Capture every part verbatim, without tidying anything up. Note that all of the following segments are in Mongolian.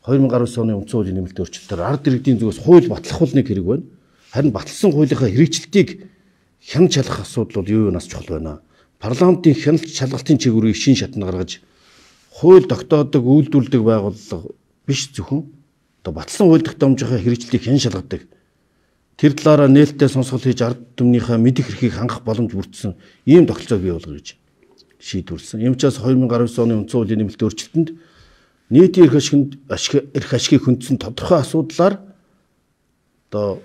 хоёр мянга гаруй оны үндсэн хуулийн нэмэлт өөрчлөлтөөр ард иргэдийн зүгээс хууль батлах нэг хэрэг байна. Харин батлсан хуулийнхаа хэрэгжилтийг хянаж шалгах асуудал бол юу юу нас чухал байна. Парламентын хяналт шалгалтын чиглэлийг шин шатнд гаргаж хууль тогтоодог, үйлдвэрлэдэг байгууллага биш зөвхөн одоо батлсан хууль тогтоомжийнхаа хэрэгжилтийг хян шалгадаг. Тэр талаараа нээлттэй сонсгол хийж ард түмнийхээ мэдих эрхийг хангах боломж бүрдсэн ийм тогтолцоог бий болгоно гэж шийдвэрлсэн. Ийм учраас хоёр мянга гаруй оны үндсэн хуулийн нэмэлт өөрчлөлтөнд нийтийн эрх ашиг эрх ашигыг хөндсөн тодорхой асуудлаар одоо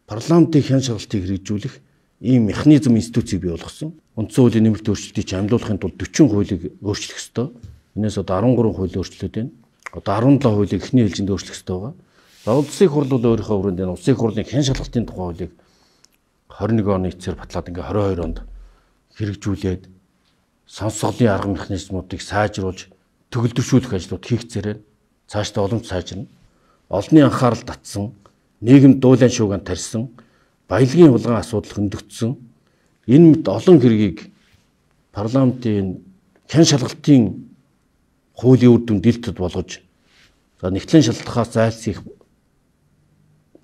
парламентын хян шалгалтыг хэрэгжүүлэх ийм механизм институцийг бий болгосон. Үндсэн хуулийн нэмэлт өөрчлөлтийг амлуулахын тулд дөрвөн хуулийг өөрчлөх ёстой. Энээс одоо арван гурван хууль өөрчлөлт байна. Одоо арван долоо хуулийг эхний ээлжинд өөрчлөх ёстой байгаа. За улсын хурл бол өөрийнхөө өрөөнд энэ улсын хурлын хян шалгалтын тухай хуулийг хорин нэг оны эцсээр батлаад ингээ хорин хоёр онд хэрэгжүүлээд сонсголын арга механизмуудыг сайжруулж төгөлдршүүлэх ажлууд хийх зэрэг цаашдаа уламж сайжирна. Олонний анхаарал татсан, нийгэм дуулан шуугиан тарьсан, баялагын улгаан асуудал хөндөгдсөн. Энэ мэд олон хэргийг парламентын хян шалгалтын хуулийн үр дүн дэлгэд болгож за нэгтлэн шалтгаахаас зайлсхийх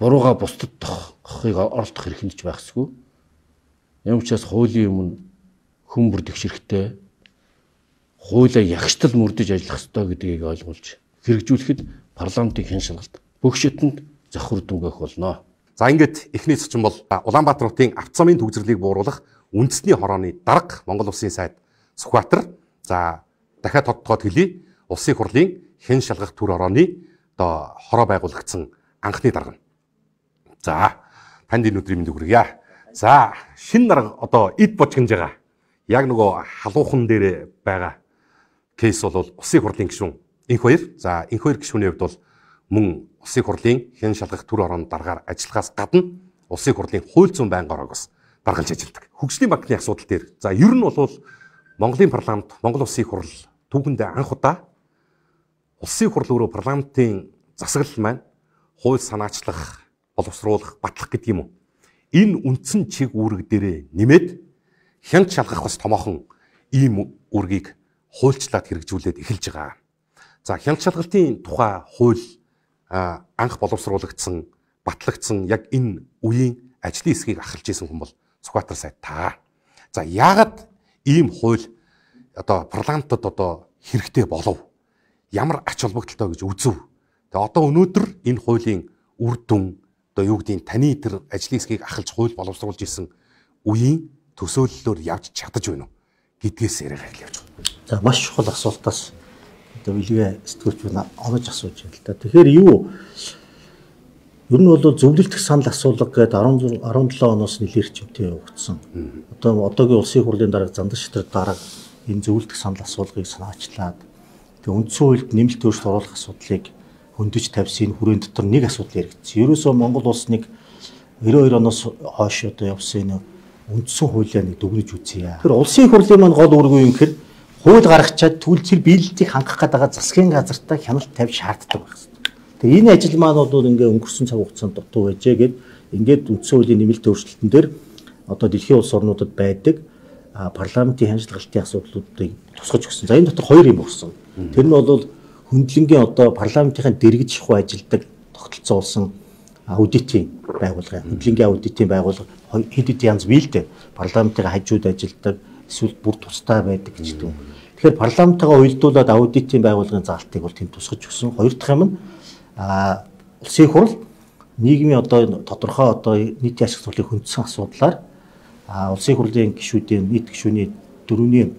бурууга бусдад тоххыг оролдох хэрэг нэгж байхсгүй. Юм учраас хуулийн өмнө хүн бүр тэгшэрхтэй хуулиа ягштал мөрдөж ажиллах ёстой гэдгийг ойлгуулж хэрэгжүүлэхэд парламентын хян шалгалт бүх шатнд завхар дүнгэх болно. За ингээд эхний зочин бол Улаанбаатар хотын авто замын төгсрлийг бууруулах үндэсний хорооны дарга Монгол Улсын сайд Сүхбаатар. За дахиад тодтогоод хэлье. Улсын хурлын хэн шалгах төр хорооны одоо хороо байгуулагдсан анхны дарга. За танд энэ өдрийн мэндийг хүргье. За шинэ дарга одоо эд бочгонж байгаа. Яг нөгөө халуухан дээр байгаа кейс бол улсын хурлын гишүүн энх хоёр. За энх хоёр гишүүний хувьд бол мөн улсын хурлын хэн шалгах төр хорооны даргаар ажиллахаас гадна улсын хурлын хууль зүйн байнгын ороогоос даргалж ажилладаг. Хөгжлийн банкны асуудал дээр за ер нь бол Монголын парламент, Монгол улсын хурл түүхэндээ анх удаа улсын хурл өөрөө парламентын засаглал маань хууль санаачлах, боловсруулах, батлах гэдэг юм уу. Энэ үндсэн чиг үүрэг дээрээ нэмээд хяналт шалгах бас томоохон ийм үүргийг хуульчлаад хэрэгжүүлээд эхэлж байгаа. За хяналт шалгалтын тухай хууль анх боловсруулагдсан, батлагдсан яг энэ үеийн ажлын хэсгийг ахалж исэн хүн бол Сүхбаатар сайд та. За яагаад ийм хууль одоо парламентод одоо хэрэгтэй болов? Ямар ач холбогдолтой гэж үзв? Тэгээ одоо өнөөдөр энэ хуулийн үр дүн одоо юу гэдгийг таны тэр ажлын хэсгийг ахалж хууль боловсруулж исэн үеийн төсөөллөөр явж чадаж байна уу гэдгээс яриа хэлж явж байна. За маш чухал асуултаас одоо билгээ сэтгүүлч байна онож асууж байна л да. Тэгэхээр юу ер нь бол зөвлөлтөх санал асуулга гэдэг арван долоо оноос нэлээрч өвтэй явагдсан. Одоо одоогийн улсын хурлын дарга Зандан Шитрэг дарга энэ зөвлөлтөх санал асуулгыг санаачлаад тэгээ үндсэн хуульд нэмэлт өөрчлөлт оруулах асуудлыг хөндөж тавьсан хүрээнд дотор нэг асуудал яригдсан. Ерөөсөө Монгол улс нэг девяносто хоёр оноос хойш одоо явсан энэ үндсэн хуулиа нэг дүгнэж үзье. Тэр улсын хурлын маань гол үүрэг юу юм гэхээр хууль гаргачаад түлцэл биелэлтийг хангах гэдэг засгийн газартаа хяналт тавьж шаарддаг байх хэрэгтэй. Тэгээ энэ ажил маань бол ингээ өнгөрсөн цаг хугацаанд дутуу байжээ гэд ингээд үндсэн хуулийн нэмэлт өөрчлөлтөн дээр одоо дэлхийн улс орнуудад байдаг парламентын хяналтын асуудлуудыг тусгаж өгсөн. За энэ дотор хоёр юм болсон. Тэр нь бол хөндлөнгийн одоо парламентын дэргэж шахуу ажилдаг тогтолцоолсон аудитын байгууллага, хөндлөнгийн аудитын байгууллага хэд хэд янз бий л дээ. Парламентын хажууд ажилдаг, эсвэл бүр тустай байдаг гэж дээ. Тэгэхээр парламентаа уялдуулаад аудитын байгууллагын заалтыг бол тэнд тусгаж өгсөн. Хоёр дахь юм нь а улсын хурл нийгмийн одоо тодорхой одоо нийтийн ашиг цуглыг хөндсөн асуудлаар а улсын хурлын гишүүдийн нийт гишүүний дөрөвний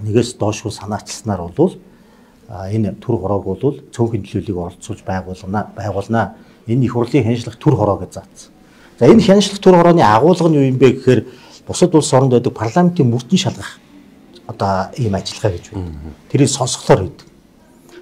нэгээс доошгүй санаачилснаар бол энэ төр хороог бол цөөхөн нөлөөллийг оролцуулж байгуулна байгуулна. Энэ их хурлын хяншлах төр хороо гэж заасан. За энэ хяншлах төр хорооны агуулга нь юу юм бэ гэхээр бусад улс оронд байдаг парламентын мөрдөн шалгах одоо ийм ажиллагаа гэж байна. Тэрийг сонсголоор хийдэг.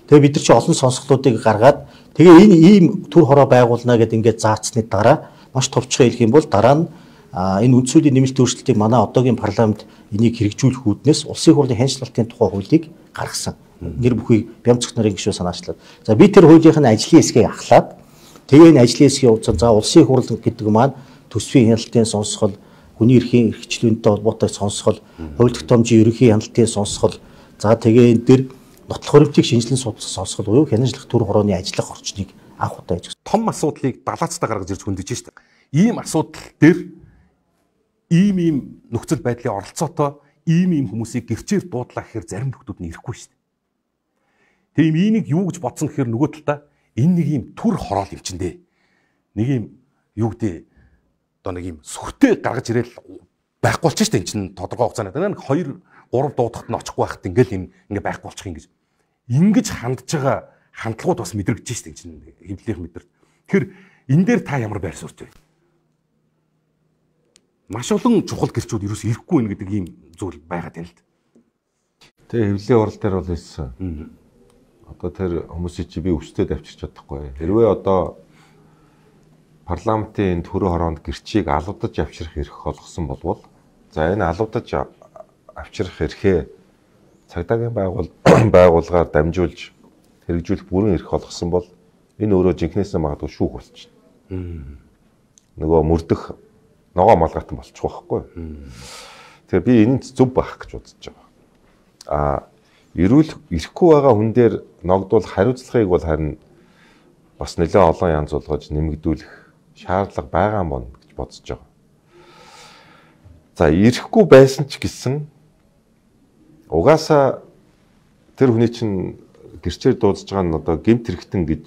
Тэгээ бид нар чи олон сонсголуудыг гаргаад тэгээ энэ ийм төр хороо байгуулна гэдээ ингээд заацсны дараа маш товчхон хэлэх юм бол дараа нь энэ үндсүүлийн нэмэлт өөрчлөлтийг манай одоогийн парламент энийг хэрэгжүүлэх үүднээс улсын хурлын хяншлалтын тухай хуулийг гаргасан. Нэр бүхий Бямцгт нарын гишүүн санаачлаад. За би тэр хуулийнхын ажлын хэсгийг ахлаад тэгээ энэ ажлын хэсгийн хувьд за улсын хурл гэдэг маань төсвийн хяналтын сонсгол, хүний эрхийн эрхчлүүнтэй холбоотой сонсгол, хууль тогтоомжийн ерөнхий хяналтын сонсгол, за тэгээ энэ дэр нотлох хөрөвтийг шинжилэн судалсан сонсгол буюу хянажлах төр хорооны ажиллах орчныг анх удаа хийж. Том асуудлыг далаацтай гаргаж ирж хөндөж штэ. Ийм асуудал дээр ийм ийм нөхцөл байдлын оролцоотой ийм ийм хүмүүсийг гэрчээр дуудлаа гэхээр зарим хүмүүс нь ирэхгүй штэ. Тийм энийг юу гэж бодсон гэхээр нөгөө талдаа энэ нэг ийм төр хороол юм чинь дээ. Нэг ийм юу гэдэг одоо нэг ийм сүртэй гаргаж ирээл байхгүй болчих штэ. Энд чинь тодорхой хугацаанд нэг хоёр гурав дуудахад нь очихгүй байхад ингээл юм ингээ байхгүй болчих юм гэж. Ингэж хандж байгаа хандлагууд бас мэдрэгдэж штэ чинь хэвлэх мэдэр. Тэгэхээр энэ дээр та ямар байр суурьтай вэ? Маш олон чухал гэрчүүд ерөөс ирэхгүй байх гэдэг ийм зүйл байгаад байна л да. Тэгээ хэвлэлийн орол дээр бол хэлсэн. Одоо тэр хүмүүсийг чи би өчтөд авчирч чадахгүй. Хэрвээ одоо парламентын төрөө хороонд гэрчийг алуудаж авчрах эрх олгосон болвол за энэ алуудаж авчрах эрхээ цагдаагийн байгуул байгууллагаар дамжуулж хэрэгжүүлэх бүрэн эрх олгосон бол энэ өөрөө жинхнээсээ магадгүй шүүх болчихно. Нөгөө мөрдөх ногоо малгайтан болчих واخхгүй. Тэгэхээр би энэ зөв байх гэж бодож байгаа. А эрүүл ирэхгүй байгаа хүн дээр ногдвол хариуцлагыг бол харин бас нэлээд олон янз болгож нэмэгдүүлэх шаардлага байгаа юм байна гэж бодож байгаа. За ирэхгүй байсан ч гэсэн угаасаа тэр хүний чинь гэрчээр дуудаж байгаа нь одоо гэмт хэрэгтэн гэж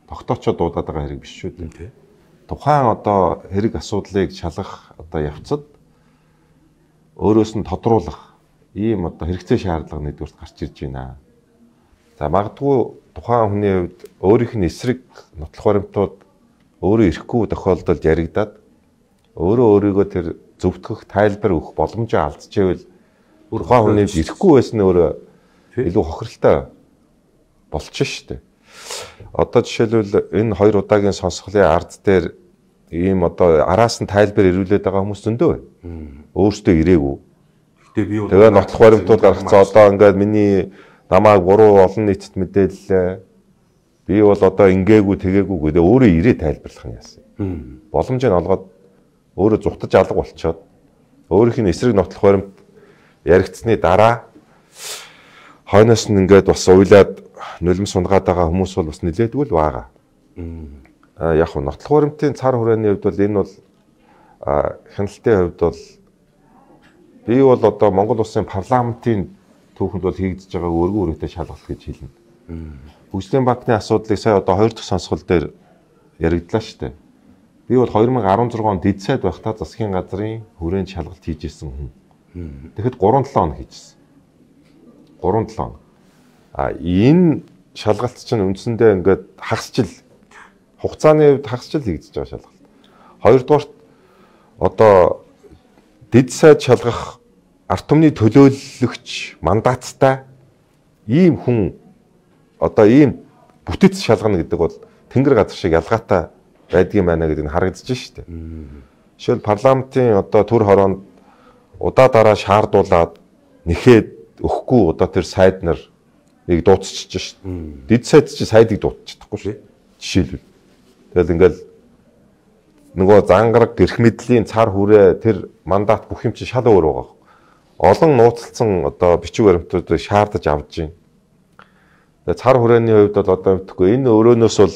тогтоочоо дуудаад байгаа хэрэг биш шүү дээ. Тухайн одоо хэрэг асуудлыг шалгах одоо явцад өөрөөс нь тодруулах ийм одоо хэрэгцээ шаардлага нэгдүгürt гарч ирж байна. За магадгүй тухайн хүний хувьд өөрийнх нь эсрэг нотлох баримтууд өөрөө ирэхгүй тохиолдолд яригадаад өөрөө өөрийгөө тэр зөвтгөх тайлбар өгөх боломжоо алдчихвэл тухайн хүний ирэхгүй байсан нь өөрөө илүү хохиролтой болчих шүү дээ. Одоо жишээлбэл энэ хоёр удаагийн сонсголын ард дээр ийм одоо араас нь тайлбар ирүүлээд байгаа хүмүүс зөндөө байна. Өөртөө ирээгүй. Тэгээ нотлох баримтууд гаргацсан одоо ингээд миний намайг буруу олон нийтэд мэдээллээ. Би бол одоо ингээгүй тэгээгүй гэдэг өөрөө ирээ тайлбарлах нь яасан. Боломжийг олгоод өөрөө зүхтаж алга болчоод өөрийнх нь эсрэг нотлох баримт яригдсны дараа хойноос нь ингээд бас уйлаад нулим сунгаад байгаа хүмүүс бол бас нилээдгүй л байгаа. А яг нь нотлох баримтын цар хүрээний хувьд бол энэ бол хяналтын хувьд бол би бол одоо Монгол улсын парламентын түүхэнд бол хийгдэж байгаа өргөн үрэгтэй шалгалт гэж хэлнэ. Хөгжлийн банкны асуудлыг сая одоо хоёр дахь сонсгол дээр яригдлаа шүү дээ. Би бол хоёр мың арван зургаан онд дэд сайд байхдаа засгийн газрын хүрээнд шалгалт хийж ирсэн хүн. Тэгэхэд гурван долоо хоног хийжсэн. гурван долоо хоног. А энэ шалгалт чинь үндсэндээ ингээд хагасчил хугацааны хувьд хагасчил хийгдэж байгаа шалгалт. Хоёрдугаарт одоо дэд сайд шалгах ард түмний төлөөлөгч мандаттай ийм хүн одоо ийм бүтэц шалгана гэдэг бол тэнгэр газар шиг ялгаатай байдгийн байна гэдэг нь харагдаж штэ. Жишээл парламентын одоо төр хороонд удаа дараа шаардуулаад нэхэд өгөхгүй одоо тэр сайд нар нэг дуудчихж штэ. Дэд сайд чи сайдыг дуудчихдаггүй шүү. Жишээлбэл. Тэгэл ингээл нөгөө зангараг гэрх мэдлийн цар хүрээ тэр мандат бүх юм чи шал өөр байгаа. Олон нууцлцсан одоо бичиг баримтуудыг шаардаж авч байна. Тэгээ цар хүрээний хувьд бол одоо мэдхгүй энэ өрөөнөөс бол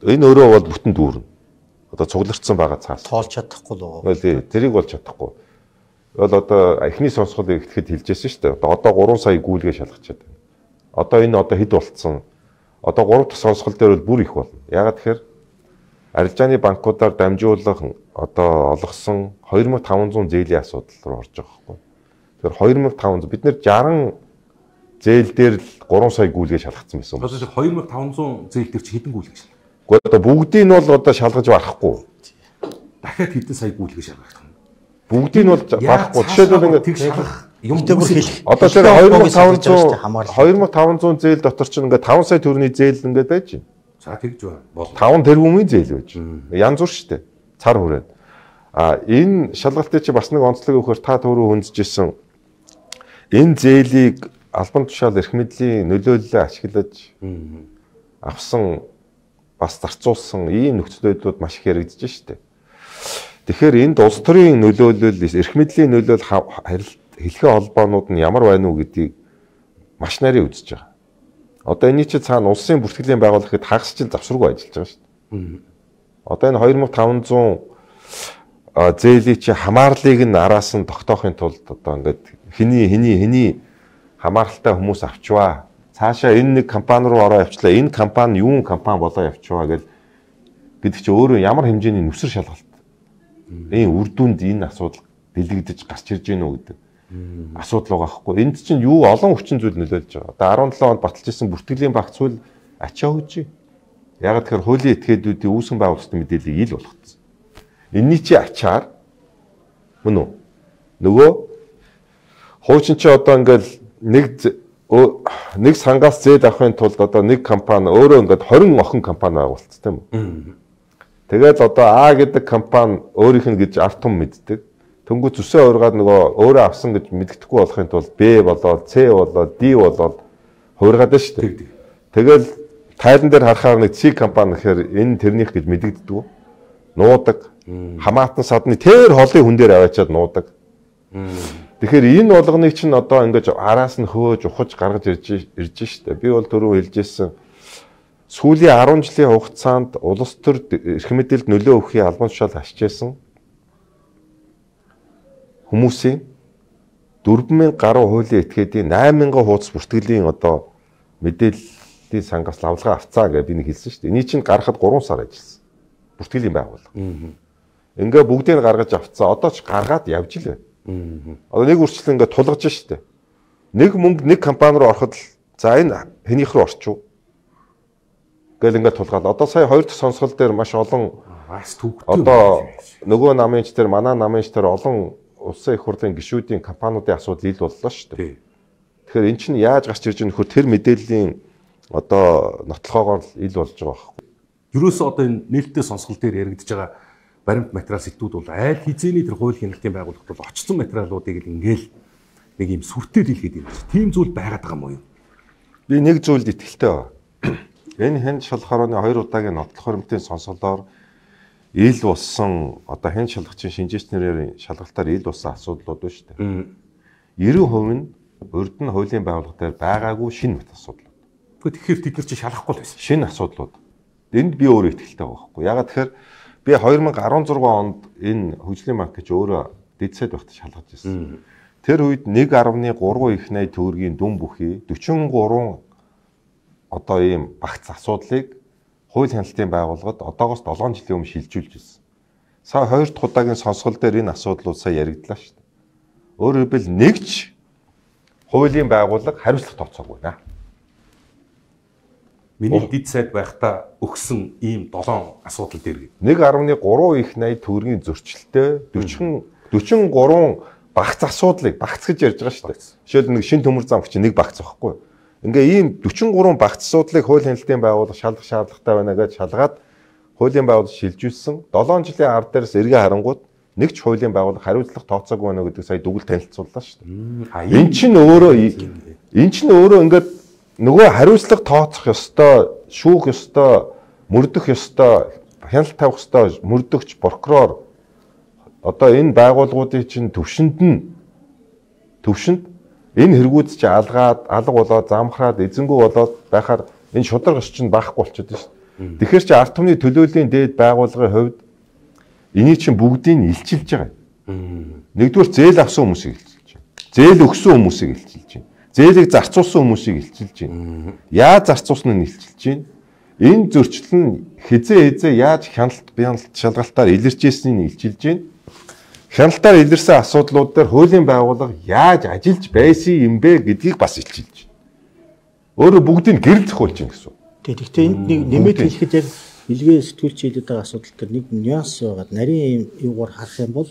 энэ өрөө бол бүтэн дүүрнэ. Одоо цуглардсан байгаа цаас. Тоолж чадахгүй л байгаа. Тий, тэрийг бол чадахгүй. Бол одоо эхний сонсголыг ихэд хэлжсэн шүү дээ. Одоо одоо гурван сая гүйлгээ шалгачаад байна. Одоо энэ одоо хэд болцсон? Одоо гурав дахь сонсгол дээр бол бүр их болно. Ягаад тэгэхээр арилжааны банкудаар дамжуулах одоо олгосон хоёр мың таван зуун зээлийн асуудал руу орж байгаа байхгүй. Тэгэхээр хоёр мың таван зуун бид нэр жарган зээл дээр л гурван сая гүйлгээ шалгацсан байсан. Одоо хоёр мың таван зуун зээл дээр чи хэдэн гүйлгээ шалгав? Гэхдээ одоо бүгдийг нь бол одоо шалгаж барахгүй. Дахиад хэдэн сая гүйлгээ шалгах юм? Бүгдийг нь бол барахгүй. Жишээлбэл ингээд тэг шалгах юм бүр хэлэх. Одоо тэр хоёр мың таван зуун хоёр мың таван зуун зээл дотор чинь ингээд таван сая төгрөгийн зээл ингээд байж байна. За тэгж байна. таван тэрбумын зээл байж байна. Янз бүр шүү дээ. Цар хүрээд. А энэ шалгалтыг чи бас нэг онцлог өгөхөөр та түрүү хөндөжсэн энэ зээлийг албан тушаал эрх мэдлийн нөлөөллөөр ашиглаж авсан бас зарцуулсан ийм нөхцөл байдлууд маш их яригдж штэ. Тэгэхээр энд улс төрийн нөлөөлөл эрх мэдлийн нөлөөлөл хэлхээ холбоонууд нь ямар байна уу гэдгийг маш нарийн үзэж байгаа. Одоо энэ чинь цаана улсын бүртгэлийн байгууллага гэхэд хагас жил завсруугүй ажиллаж байгаа шүү дээ. Одоо энэ two thousand five hundred зээлийн чи хамаарлыг нь араас нь тогтоохын тулд одоо ингээд хэний хэний хэний хамааралтай хүмүүс авчваа. Цаашаа энэ нэг компани руу ороо явчлаа. Энэ компани юун компани болоо явчваа гэл гэдэг чи өөрөө ямар хэмжээний нүсэр шалгалт. Энэ үр дүнд энэ асуудал дэлгэгдэж гарч ирж гэнэ үү гэдэг асуудал байгаа хгүй. Энд чинь юу олон хүчин зүйл нөлөөлж байгаа. Одоо seventeen онд баталж исэн бүртгэлийн багц зүйл ачаа хөөж. Яг тэгэхээр хуулийн этгээдүүдийн үүсгэн байгуулалтын мэдээллийг ил болгоцсон. Энийний чи ачаар мөн үү? Нөгөө хуучин чи одоо ингээл нэг нэг сангаас зээл авахын тулд одоо нэг компани өөрөө ингээд twenty охин компани байгуулсан тийм үү? Тэгээд одоо А гэдэг компани өөрийнх нь гэж арт том мэддэг. Тэнгүү зүсээ ургаад нөгөө өөрөө авсан гэж мэддэхгүй болохын тулд Б болоод С болоод Д болоод хуургаад байна шүү дээ. Тэгэл тайлан дээр харахаар нэг С компани гэхээр энэ тэрнийх гэж мэдэгддэг. Нуудаг. Хамаатан садны тэр холын хүн дээр аваачаад нуудаг. Тэгэхээр энэ болгоныг чинь одоо ингэж араас нь хөөж ухаж гаргаж ирж ирж штэ. Би бол түрүү хэлжсэн сүүлийн ten жилийн хугацаанд улс төр эрх мэдэлд нөлөө өгөхийн албан тушаал хашижсэн хүмүүсийн four thousand гаруй хуулийн этгээдийн eight thousand хуудас бүртгэлийн одоо мэдээллийн сангаас лавлгаа авцаа гэж би нэг хэлсэн штэ. Эний чинь гаргахад three сар ажилласан. Бүртгэлийн байгууллага. Ингээ бүгдийг гаргаж авцаа. Одоо ч гаргаад явж л байна. Одоо нэг үрчлэн ингээ тулгаж штэ. Нэг мөнгө нэг компани руу ороход за энэ хэнийх рүү орчив. Гэл ингээ тулгаад. Одоо сая хоёр дахь сонсгол дээр маш олон бас түүхтэй. Одоо нөгөө намынч дээр манай намынч дээр олон улсын их хурлын гишүүдийн компаниудын асуудал ил боллоо штэ. Тэгэхээр эн чинь яаж гарч ирж байгаа нөхөр тэр мэдээллийн одоо нотлохоогоор ил болж байгаа байхгүй. Ерөөсөө одоо энэ нээлттэй сонсгол дээр яригдж байгаа баримт материал сэтгүүд бол айл хизээний тэр хууль хяналтын байгууллагт бол очсон материалуудыг л ингээл нэг юм сүртэй дийлгээд юм. Тийм зүйл байгаад байгаа юм уу? Би нэг зүйлд итгэлтэй байна. Энэ хэн шалхарооны хоёр удаагийн нотлох баримтын сонсголоор ил болсон одоо хэн шалгагчийн шинжээчнэрийн шалгалтаар ил болсон асуудлууд байна шүү дээ. ninety percent нь урд нь хуулийн байгууллага дээр байгаагүй шинэ мэт асуудлууд. Тэгэхээр тэд нар чи шалгахгүй л байсан. Шинэ асуудлууд. Энд би өөрөө итгэлтэй байгаа байхгүй. Ягаад тэгэхээр би two thousand sixteen онд энэ хөгжлийн банк гэж өөрөө дэдсэд багт шалгаж ирсэн. Тэр үед one point three их найд төгрөгийн дүн бүхий forty-three одоо ийм багц асуудлыг хууль хяналтын байгууллагад одоогоос seven жилийн өмнө шилжүүлж ирсэн. Сая хоёр дахь удаагийн сонсгол дээр энэ асуудлууд сая яригдлаа шүү дээ. Өөрөөр хэлбэл нэгч хуулийн байгууллага хариуцлага тооцоогүй наа. Миний дэд сайд байхдаа өгсөн ийм seven асуудал дээр one point three их найд төгрөгийн зөрчилтэй forty-three багц асуудлыг багц гэж ярьж байгаа шүү дээ. Жишээл нэг шин төмөр зам чинь нэг багц байхгүй. Ингээ ийм forty-three багц асуудлыг хууль хяналтын байгууллага шалгах шаардлагатай байна гэж шалгаад хуулийн байгууллага шилжүүлсэн. seven жилийн ард дээрс эргээ харангууд нэг ч хуулийн байгууллага хариуцлага тооцоогүй байна гэдэг сая дүгэл танилцууллаа шүү дээ. Энд чинь өөрөө энэ чинь өөрөө ингээд нөгөө хариуцлага тооцох ёстой, шүүх ёстой, мөрдөх ёстой, хяналт тавих ёстой мөрдөгч прокурор одоо энэ байгууллагуудын чинь төвшөнд нь төвшөнд энэ хэрэгүүд чи алгаад, алга болоод, замхраад, эзэнгүү болоод байхаар энэ шударга ш чинь баахгүй болчиход байна шүү дээ. Тэгэхээр чи ард түмний төлөөллийн дээд байгууллагын хувьд энийг чинь бүгдийг илчилж байгаа. Нэгдүгээр зээл авсан хүмүүсийг илчилж байна. Зээл өгсөн хүмүүсийг илчилж байна. Зээлийг зарцуулсан хүмүүсийг илчилж байна. Яаж зарцуулсан нь илчилж байна. Энэ зөрчил нь хизээ хизээ яаж хяналт бяналт шалгалтаар илэрч ирснийг илчилж байна. Хяналтаар илэрсэн асуудлууд дээр хуулийн байгууллага яаж ажиллаж байсан юм бэ гэдгийг бас илчилж байна. Өөрөөр бүгдийг гэрэл зохиулж байна гэсэн. Тэг. Гэхдээ энд нэг нэмээд хэлэхэд яг илгээ сэтгүүлч хэлээд байгаа асуудал дээр нэг нюанс байгаа. Нарийн юугаар харах юм бол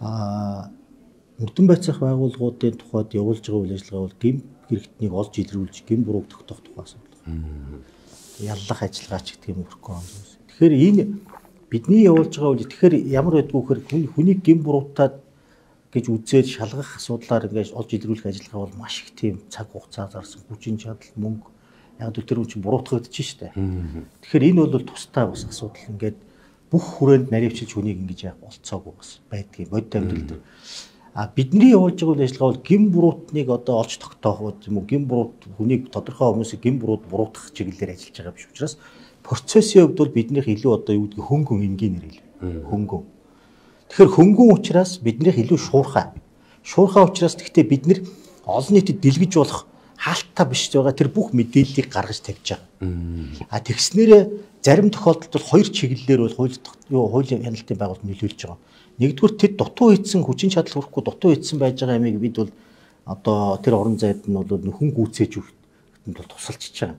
аа мөрдөн байцаах байгууллагуудын тухайд явуулж байгаа үйл ажиллагаа бол гэм хэрэгтнийг олж илрүүлж гэм бурууг тогтоох тухай асуудал. Яллах ажиллагаа ч гэх юм өрхгүй юм. Тэгэхээр энэ бидний явуулж байгаа үйл тэгэхээр ямар байдгүй хэр хүний гэм буруутаад гэж үзээд шалгах асуудлаар ингэж олж илрүүлэх ажиллагаа бол маш их тийм цаг хугацаа зарсан хүчин чадал мөнгө яг тэр үн чинь буруутгагдаж штэ. Тэгэхээр энэ бол тустай бас асуудал ингээд бүх хүрээнд наривчилж хүнийг ингэж яах болцоогүй бас байдгийг бодит амьдрал дээр. А бидний явуулж байгаа үйл ажиллагаа бол гин буруутныг одоо олж тогтоох юм уу, гин буруут хүнийг тодорхой хүмүүсийг гин буруут буруутгах чиглэлээр ажиллаж байгаа биш учраас процессын хувьд бол биднийх илүү одоо юу гэдэг хөнгөн энгийнээр илүү хөнгөн. Тэгэхээр хөнгөн учраас биднийх илүү шуурхай. Шуурхай учраас гэхдээ бид нэр олон нийтэд дэлгэж болох хаалттай биш байгаа тэр бүх мэдээллийг гаргаж тавьж байгаа. А тэгснээрээ зарим тохиолдолд бол хоёр чиглэлээр бол хууль юу хуулийн хяналтын байгууллага нөлөөлж байгаа. Нэгдүгээр тэд дутуу хийсэн хүчин чадал хүрэхгүй дутуу хийсэн байж байгаа ямиг бид бол одоо тэр орон зайд нь бол нөхөн гүйцээж өгөхөнд бол тусалчиж байгаа.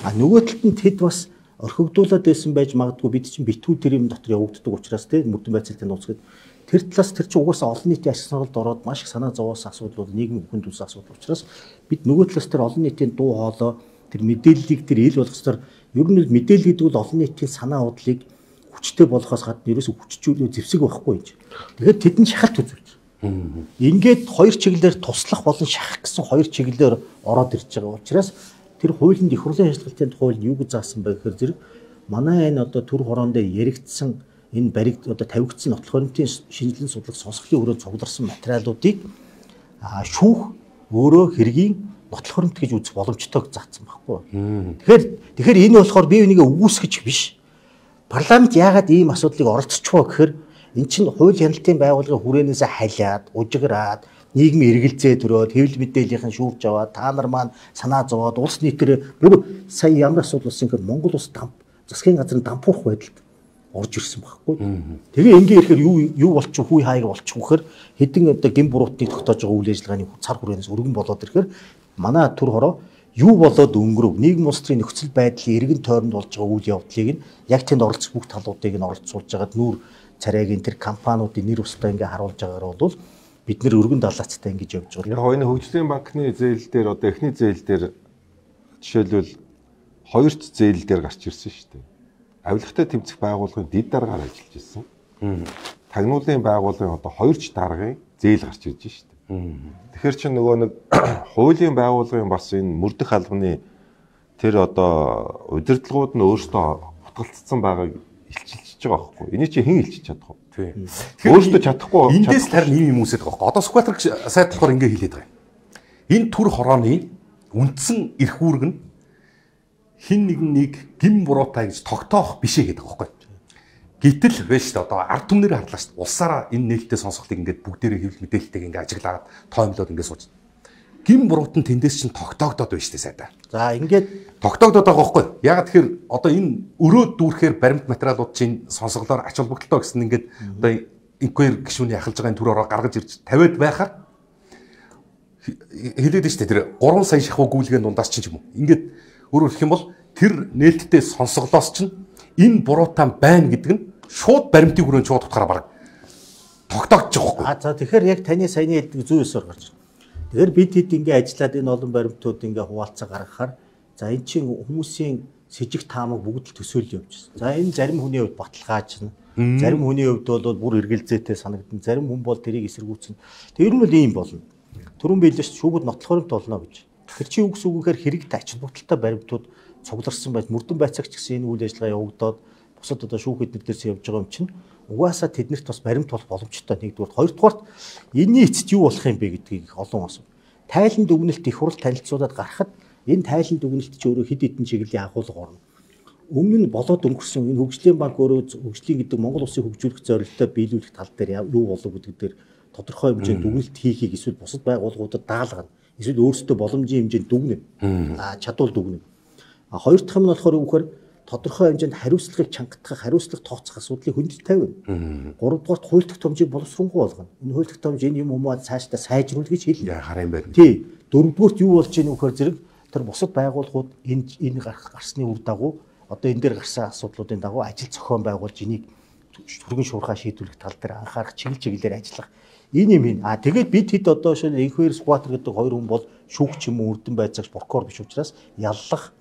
А нөгөө талд нь тэд бас орхигдуулаад байсан байж магадгүй бид чинь битүү тэр юм дотор явагддаг учраас тийм мөрдөн байцаалтын нууц гэдэг тэр талаас тэр чинь угаасаа олон нийтийн ашиг сонголт ороод маш их санаа зовоосон асуудал бол нийгмийн бүхэнд үүсэн асуудал учраас бид нөгөө талаас тэр олон нийтийн дуу хоолой тэр мэдээллийг тэр ил болгох тэр ер нь мэдээлэл гэдэг бол олон нийтийн санаа бодлыг хүчтэй болгохоос гадна ерөөсө хүчжүүлээ зэвсэг байхгүй юм. Тэгэхээр тэд нь шахалт үзүүлж. Ингээд хоёр чиглэлээр туслах болон шахах гэсэн хоёр чиглэлээр ороод ирж байгаа учраас тэр хуулинд их хурлын ажиллагаалтын хууль юу гэж заасан бэ гэхээр зэрэг манай энэ одоо төр хорон дээр яригдсан энэ бариг одоо тавигдсан нотлох баримтын шинжилэн судлах сонсголын өрөө цугларсан материалуудыг шүүх өөрөө хэргийн нотлох баримт гэж үзэх боломжтой заасан байхгүй. Тэгэхээр тэгэхээр энэ болохоор бие бинийгээ үгүйсгэж биш. Парламент яагаад ийм асуудлыг оролцчихвоо гэхээр эн чинь хууль хяналтын байгууллагын хүрээнээс халиад, ужиграад нийгмийн эргэлзээ төрөөд хэвлэл мэдээллийнхэн шүүрж аваад та нар маань санаа зовоод улс нийтээр бүр сая ямар асуудал болсон гэхээр Монгол улс дамп засгийн газрын дампуурах байдалд орж ирсэн байхгүй. Тэгээ ингээ ирэхээр юу юу болчих хүй хаяг болчих вөхөр хэдэн одоо гин буруутныг тогтоож байгаа үйл ажиллагааны цар хүрээнээс өргөн болоод ирэхээр манай төр хороо юу болоод өнгөрөв нийгэм улс төрийн нөхцөл байдлын эргэн тойронд болж байгаа үйл явдлыг нь яг тэнд оролцох бүх талуудыг нь оролцуулж байгаад нүүр царайгийн тэр компаниудын нэр устай ингээ харуулж байгаагаар бол бид нэр өргөн далаацтай ингэж явж байгаа. Яг энэ хөгжлийн банкны зээл дээр одоо эхний зээл дээр жишээлбэл хоёрт зээл дээр гарч ирсэн шүү дээ. Авилгатай тэмцэх байгууллагын дэд дараагаар ажиллаж ирсэн. Тагнуулын байгууллагын одоо хоёрч даргын зээл гарч ирж шүү дээ. Тэгэхээр чи нөгөө нэг хуулийн байгууллагын бас энэ мөрдөх албаны тэр одоо удирдлагууд нь өөрсдөө хутгалцсан байгааг илчилж байгаа байхгүй. Энийг чи хэн илчилж чадах вэ? Тийм. Өөрсдөө чадахгүй. Эндээс тарин ийм юм үсэт байгаа. Одоо Сүхбаатар сайд болохоор ингэ хэлээд байгаа юм. Энэ төр хорооны үндсэн эрх үүрэг нь хин нэгнийг гин буруутай гэж тогтоох бишээ гэдэг байгаа байхгүй. Гэтэл вэ шүү дээ одоо ард түмнэр харлаа шүү дээ. Улсаараа энэ нээлттэй сонсголтыг ингээд бүгдээрээ хэвлэл мэдээлэлтэйг ингээд ажиглаад тоомлоод ингээд сууж. Гин буруут нь тэндээс чинь тогтоогдоод байна шүү дээ сайдаа. За ингээд тогтоогдоод байгаа байхгүй. Яг тэгэхээр одоо энэ өрөө дүүрхээр баримт материалууд чинь сонсголоор ач холбогдолтой гэсэн ингээд одоо инквайр гишүүний ахалж байгаа энэ төр ороо гаргаж ирж тавиад байхаар хэлээд нь шүү дээ тэр гурван сая шахуу гүйлгээн дундаас чинь юм уу. Ингээд өөрөөр хэлэх юм бол тэр нээлттэй сонсголоос чинь энэ буруутай байна гэдэг нь шууд баримтын хүрээнд шууд утгаараа баг тогтоогдож байгаа байхгүй. А за тэгэхээр яг таны саяны хэлдэг зүй ёсоор гарч байна. Тэгэхээр бид хэд ингээ ажиллаад энэ олон баримтууд ингээ хуваалцаа гаргахаар за эн чинь хүмүүсийн с жиг таамаг бүгд л төсөөлөл явж байна. За энэ зарим хүний хувьд баталгаажна. Зарим хүний хувьд бол бүр эргэлзээтэй санагдана. Зарим хүн бол тэрийг эсэргүүцнэ. Тэр нь бол ийм болно. Түрүүн биелэж шүүгүүд нотлох баримт болно гэж. Тэр чинь юу гэсэн үг гэхээр хэрэгтэй ач холбогдолтой баримтууд цугларсан байж мөрдөн байцаагч гэсэн энэ үйл ажиллагаа явагдаад бусад одоо шүүх эднэр дээрс явж байгаа юм чинь угаасаа тэднэрт бас баримт болох боломжтой нэгдүгээр хоёрдугаарт энэний эцэст юу болох юм бэ гэдгийг олон асуу. Тайлан дүгнэлт их хурл танилцуулаад гарахад энэ тайлан дүгнэлт чи өөрөө хэд хэдэн чиглэлийн агуулга орно. Өмнө нь болоод өнгөрсөн энэ хөгжлийн банк өөрөө хөгжлийн гэдэг Монгол улсыг хөгжүүлэх зорилттой биелүүлэх тал дээр юу болов гэдэг дээр тодорхой хэмжээнд дүгнэлт хийхийг эсвэл бусад байгууллагуудад даалгана. Эсвэл өөрсдөө боломжийн хэмжээнд дүгнэ. А чадвал дүгнэ. А хоёр дахь нь болохоор юу гэхээр тодорхой хэмжээнд хариуцлагыг чангатгах, хариуцлага тооцох асуудлыг хүнд тавина. Гурав дахь хууль тогтоомжийг боловсронгуй болгоно. Энэ хууль тогтоомж энэ юм уу цаашдаа сайжруулах гэж хэлнэ. Яа хараа юм байна. Тий. Дөрөвдүгürt юу болж ийнэ вөхөр зэрэг тэр бусад байгууллагууд энэ энэ гарах гарсны үр дагуу одоо энэ дээр гарсан асуудлуудын дагуу ажил зохион байгуулж энийг түргэн шуурхаа шийдвэрлэх тал дээр анхаарах чиглэл чиглэлээр ажиллах. Энэ юм ин. А тэгээд бид хэд одоо шил инквайр Сүхбаатар гэдэг хоёр хүн бол шүүгч юм уу үрдэн байцаагч прокурор биш учраас яллах,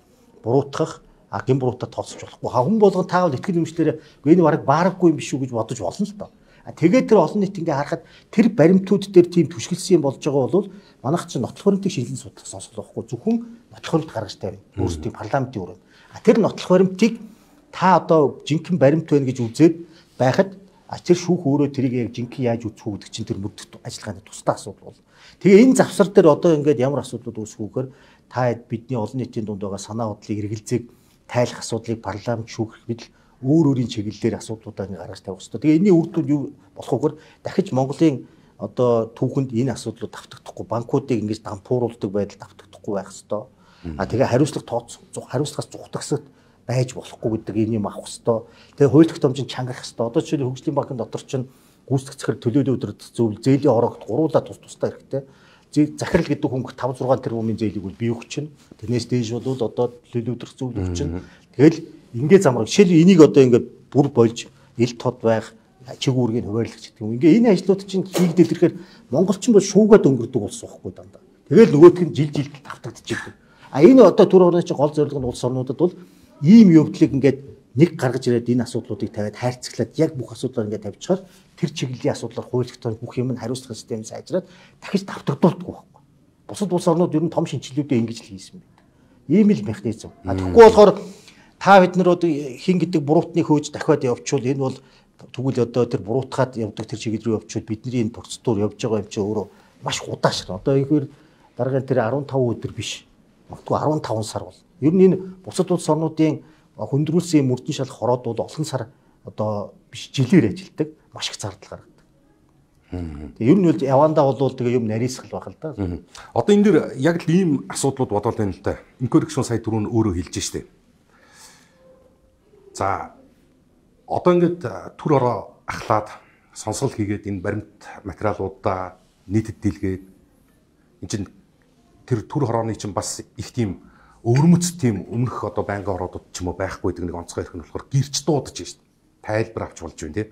буруутгах, а гин буруутаа тооцож болохгүй. Хүн болгон таавал итгэл үнэмшлэрээ энэ бараг баарахгүй юм биш үү гэж бодож болно л доо. А тэгээд тэр олон нийт ингээ харахад тэр баримтууд дээр тийм түшгэлсэн юм болж байгаа бол манайх чинь нотлох баримтыг шинжилэн судлах сонсгол байхгүй. Зөвхөн нотлох баримт гаргаж тавина. Өөрсдийн парламентын өрөөнд. А тэр нотлох баримтыг та одоо жинхэнэ баримт байна гэж үзээд байхад А тэр шүүх өөрөө тэрийг яг жинхэнэ яаж үүсэх үү гэдэг чинь тэр мөрдөх ажиллагааны тусдаа асуудал бол. Тэгээ энэ завсар дээр одоо ингээд ямар асуудлууд үүсэхүүгээр та бидний олон нийтийн дунд байгаа санаа бодлыг эргэлзээг тайлах асуудлыг парламент шүүхэх бид өөр өөрийн чиглэлээр асуудлуудаа ингээд гаргаж тавих хэрэгтэй. Тэгээ энэний үр дүн юу болохгүйгээр дахиж Монголын одоо түүхэнд энэ асуудлууд давтагдахгүй, банкуудыг ингэж дампууруулдаг байдал давтагдахгүй байх хэрэгтэй. А тэгээ хариуцлага тооцох, хариуцлагаас зүхтагсад байж болохгүй гэдэг энэ юм авах хэрэгтэй. Тэгээ хууль тогтоомжийг чангах хэрэгтэй. Одоо жишээлбэл хөгжлийн банкны дотор чинь гүйцэтгэх захирал төлөөлөл өдрөд зөвл зээлийн ороогт гуруула тус тустай хэрэгтэй. Захирал гэдэг хөнгө таван зургаан тэрбумын зээлийг бол бий өгчин. Тэрнээс дээш бол одоо төлөөлөл өдрөх зөвл өгчин. Тэгэл ингээ замраг жишээлбэл энийг одоо ингээ бүр болж ил тод байх чиг үүргийг хуваарлах гэдэг юм. Ингээ энэ ажлууд чинь хийгдэл ирэхээр монголчин бол шуугаад өнгөрдөг улс واخгүй дандаа. Тэгэл нөгөөх нь жил жил тавтагдчихдаг. А энэ одоо түр орны чинь гол зорилго нь улс орнуудад бол ийм явдлыг ингээд нэг гаргаж ирээд энэ асуудлуудыг тавиад хайрцаглаад яг бүх асуудлаар ингээд тавьчихаар тэр чиглэлийн асуудлаар хууль тогтоомж бүх юм нь хариуцлах систем сайжраад дахиж давтагдуулдаггүй байхгүй. Бусад улс орнууд ер нь том шинжилгээдээ ингэж л хийсэн байдаг. Ийм л механизм. А тэгэхгүй болохоор та бид нар одоо хин гэдэг буруутны хөөж дахиад явуучвал энэ бол тэгвэл одоо тэр буруутгаад явдаг тэр чиглэл рүү явуучвал бидний энэ процедур явж байгаа юм чи өөрөө маш удаашрал. Одоо ихэр дараагийн тэр арван таван өдөр биш. Магадгүй арван таван сар бол. Ер нь энэ бусад улс орнуудын хөндрүүлсэн мөрдөн шал хороод бол олон сар одоо биш жилээр ажилдаг маш их зардал гаргадаг. Тэгээ ер нь бол явандаа бол тэгээ юм нарийсгал байх л да. Одоо энэ дэр яг л ийм асуудлууд бодвол байна л да. Инкоррекшн сая түрүүн өөрөө хэлж штэ. За одоо ингээд түр ороо ахлаад сонсгол хийгээд энэ баримт материалуудаа нийтэд дийлгээд энэ чинь тэр түр хорооны чинь бас их тийм өвөрмөц тийм өмнөх одоо байнгын ороодод ч юм уу байхгүй гэдэг нэг онцгой хэрэг нь болохоор гэрч дуудаж шít. Тайлбар авч болж байна тийм.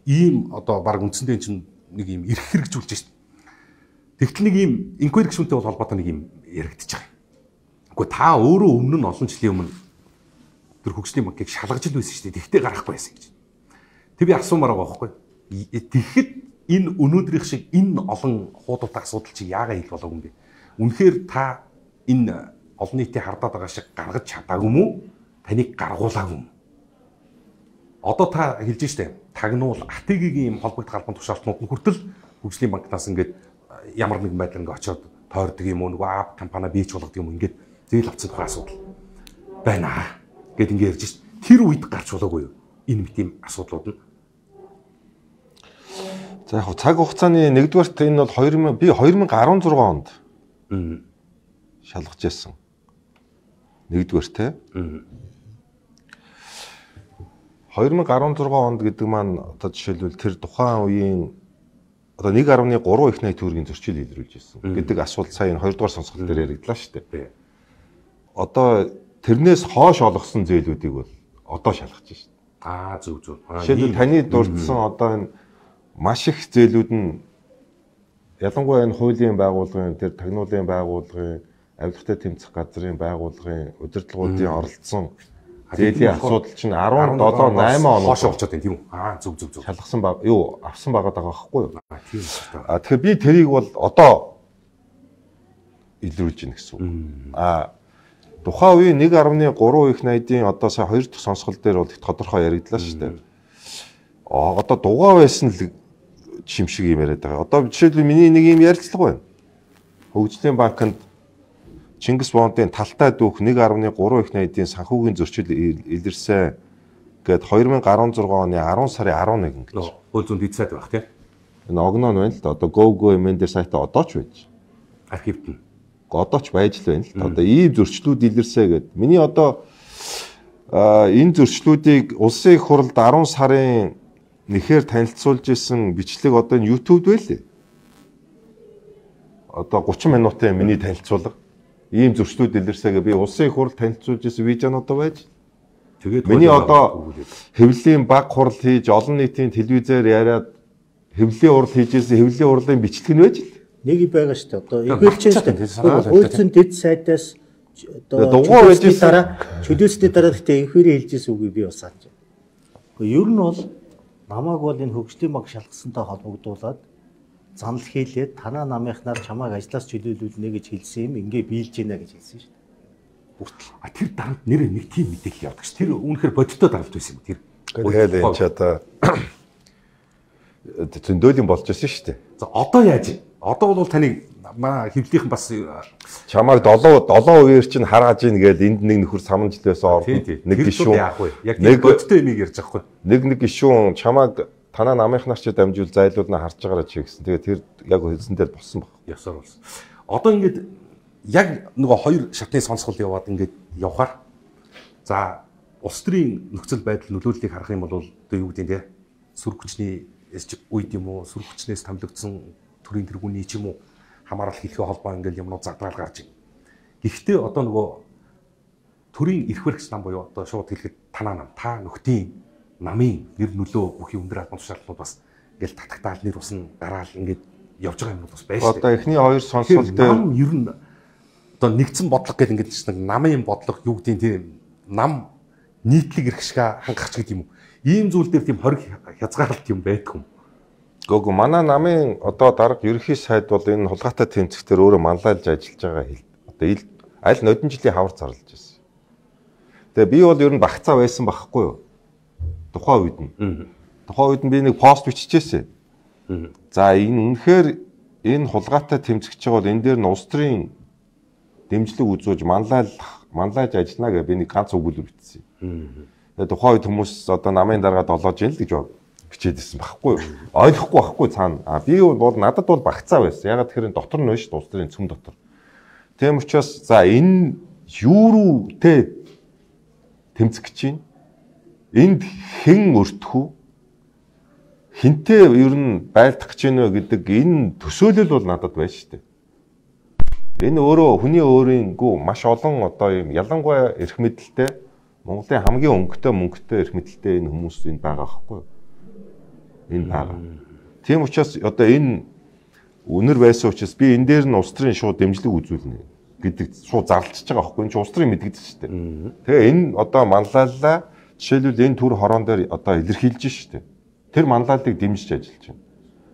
Ийм одоо баг үндсэндээ чинь нэг ийм эрх хэрэгжүүлж шít. Тэгтэл нэг ийм инквирикшнтэй бол холбоотой нэг ийм яригдчих байгаа. Гэхдээ та өөрөө өмнө нь олон жилийн өмнө тэр хөгжлийн банкыг шалгаж л байсан шít. Тэгтээ гарахгүй байсан гэж. Тэг би асуумаар байгаа байхгүй. Тэгэхэд энэ өнөөдрийнх шиг энэ олон хуудуутай асуудал чи яагаад хэл болоогүй юм бэ? Үнэхээр та энэ олон нийтийн хардаад байгаа шиг гаргаж чадаагүй юм уу? Таныг гаргуулаагүй юм. Одоо та хэлж штэ тагнуул АТГ-ийн холбогд галбан тушаалтнууд нь хүртэл хөгжлийн банкнаас ингээд ямар нэгэн байдлаар ингээд очиод тойрдог юм уу? Нөгөө ап компани бийж болгодог юм уу? Ингээд зээл авцсан тухай асуудал байна гэд ингээд ярьж штэ. Тэр үед гарч болоогүй юу? Энэ мэт юм асуудлууд нь. За яг цаг хугацааны нэгдүгээрт энэ бол хоёр мянга би хоёр мянга арван зургаан онд шалгаж байсан. Нэгдүгээр те. хоёр мянга арван зургаан онд гэдэг маань одоо жишээлбэл тэр тухайн үеийн одоо нэг гаруй гурван их найт төгрөгийн зөрчил илрүүлж ирсэн гэдэг асуулт сая хоёрдугаар сонсгол дээр яригдлаа шүү дээ. Одоо тэрнээс хоош олгосон зээлүүдийг бол одоо шалгаж байна шүү дээ. Аа зөв зөв. Жишээлбэл таны дурдсан одоо энэ маш их зээлүүд нь ялангуяа энэ хуулийн байгууллагын тэр тагнуулын байгууллагын авилгатай тэмцэх газрын байгууллагын удирдлагуудын оролцсон зээлийн асуудал чинь арван долоо найман оноо хоош болчиход байна тийм үү? Аа зөв зөв зөв. Шалгасан баг юу авсан байгаа даа байхгүй юу? Аа тийм үү. А тэгэхээр би тэрийг бол одоо илрүүлж байна гэсэн үг. А тухайн үеийн нэг гаруй гурван их найдын одоо сая хоёр дахь сонсгол дээр бол их тодорхой яригдлаа шүү дээ. А одоо дугаа байсан л шимшиг юм яриад байгаа. Одоо жишээлбэл миний нэг юм ярилцлага байна. Хөгжлийн банкнд Чингис бондын талтай дүүх нэг гаруй гурван их найдын санхүүгийн зөрчил илэрсэн гээд хоёр мянга арван зургаан оны арван сарын арван нэгэн гэж. Хууль зүйн дэд сайт байх тийм. Энэ огноо нь байна л да. Одоо go go эмэн дээр сайтаа одоо ч байж. Архивт нь. Одоо ч байж л байна л да. Одоо ийм зөрчлүүд илэрсэ гээд. Миний одоо энэ зөрчлүүдийг улсын их хурлд арван сарын нэхээр танилцуулж исэн бичлэг одоо энэ YouTube-д байлээ. Одоо гучин минутын миний танилцуулга. Ийм зөрчлүүд илэрсэгээ би улсын их хурлд танилцуулж исэн видеонууд байж. Тэгээд миний одоо хэвлэлийн баг хурал хийж олон нийтийн телевизээр яриад хэвлэлийн урал хийж исэн хэвлэлийн урлын бичлэг нь байж л. Нэг байгаа шүү дээ. Одоо ихэлчэн шүү дээ. Хуулцсан дэд сайтаас одоо дугаар байж дараа чөлөөсний дараа гэхдээ инхээрээ хэлж исэн үгийг би бас санаж байна. Гэхдээ ер нь бол намайг бол энэ хөгжлийн банк шалгасантай холбогдуулаад занал хийлээд танаа намынхнаар чамайг ажлаас чөлөөлүүлнэ гэж хэлсэн юм ингээ биелж гинэ гэж хэлсэн шүү дээ. Хүртэл. А тэр дарамт нэр нэг тийм мэдээлэл явдаг ш. Тэр үүнэхээр бодиттой дарамт байсан юм тэр. Тэгээд энэ ч одоо зөндөөлийн болж байсан шүү дээ. За одоо яаж? Одоо бол таныг маа хөвлийнхэн бас чамайг долоо долоо үеэр чинь хараад ийн гээл энд нэг нөхөр самжилвээс орно. Нэг гişүүн яах вэ? Яг нэг бодтой юмыг ярьж байгаа хгүй. Нэг нэг гişүүн чамайг танаа намынхнаар ч дамжуул зайлуулна харж байгаараа чи гэсэн. Тэгээ тэр яг хэлсэн дээр болсон баг. Ясаар болсон. Одоо ингээд яг нөгөө хоёр шатны сонсгол яваад ингээд явхаар за улс төрийн нөхцөл байдал нөлөөллийг харах юм бол одоо юу гэдэг нь те сүрэг хүчний үед юм уу сүрэг хүчнээс томилогдсон төрийн тэргүүний ч юм уу хамаарал хэлхээ холбоо ингээд юмнууд загвараар гарч байна. Гэхдээ одоо нөгөө төрийн эрх баригч нам буюу одоо шууд хэлэхэд танаа нам та нөхдийн намын нэр нөлөө бүхий өндөр албан тушаалууд бас ингээд татагтаал нэр усна гараал ингээд явж байгаа юм бас байж. Одоо эхний хоёр сонсвол дээр нам ер нь одоо нэгдсэн бодлого гэдэг ингээд чинь намын бодлого юу гэдэг тийм нам нийтлэг эрх шиг хангахч гэдэг юм уу? Ийм зүйл дээр тийм хориг хязгаарлалт юм байдаг юм. Гүг манай намын одоо дарга ерөнхий сайд бол энэ хулгайтай тэмцэхтэр өөрөө манлайлж ажиллаж байгаа хэл. Одоо ил аль нодон жилийн хавар зарлаж байсан. Тэгээ би бол ер нь багцаа байсан байхгүй юу? Тухайн үед нь. Тухайн үед нь би нэг пост биччихсэн. За энэ үнэхээр энэ хулгайтай тэмцэж байгаа бол энэ дээр нь улс төрийн дэмжлэг үзүүлж манлайлах манлайж ажиллана гэж би нэг ганц өгүүлбэр бичсэн. Тэгээ тухайн үед хүмүүс одоо намын дараагаа долоож ийн л гэж бичээдсэн байхгүй юу? Ойлгохгүй байхгүй цаана. А би бол надад бол багцаа байсан. Ягаад тэгэхээр дотор нь биш улс төрийн цөм дотор. Тийм учраас за энэ юу руу те тэмцэх гэж чинь энд хэн өртөх үү? Хинтээ ер нь байлдах гэж байна гэдэг энэ төсөөлөл бол надад байна шүү дээ. Энэ өөрөө хүний өөрийнхөө маш олон одоо юм ялангуяа эрх мэдэлтэй Монголын хамгийн өнгөтэй мөнгөтэй эрх мэдэлтэй энэ хүмүүс энэ байгаа байхгүй юу? Энэ байгаа. Тийм учраас одоо энэ үнэр байсан учраас би энэ дээр нь улс төрийн шууд дэмжлэг үзүүлнэ гэдэг шууд зарлчихж байгаа байхгүй юу? Энэ улс төрийн мэдгдэж шүү дээ. Тэгээ энэ одоо манлайллаа жишээлбэл энэ төр хорон дээр одоо илэрхийлж шүү дээ. Тэр манлайллыг дэмжиж ажиллаж байна.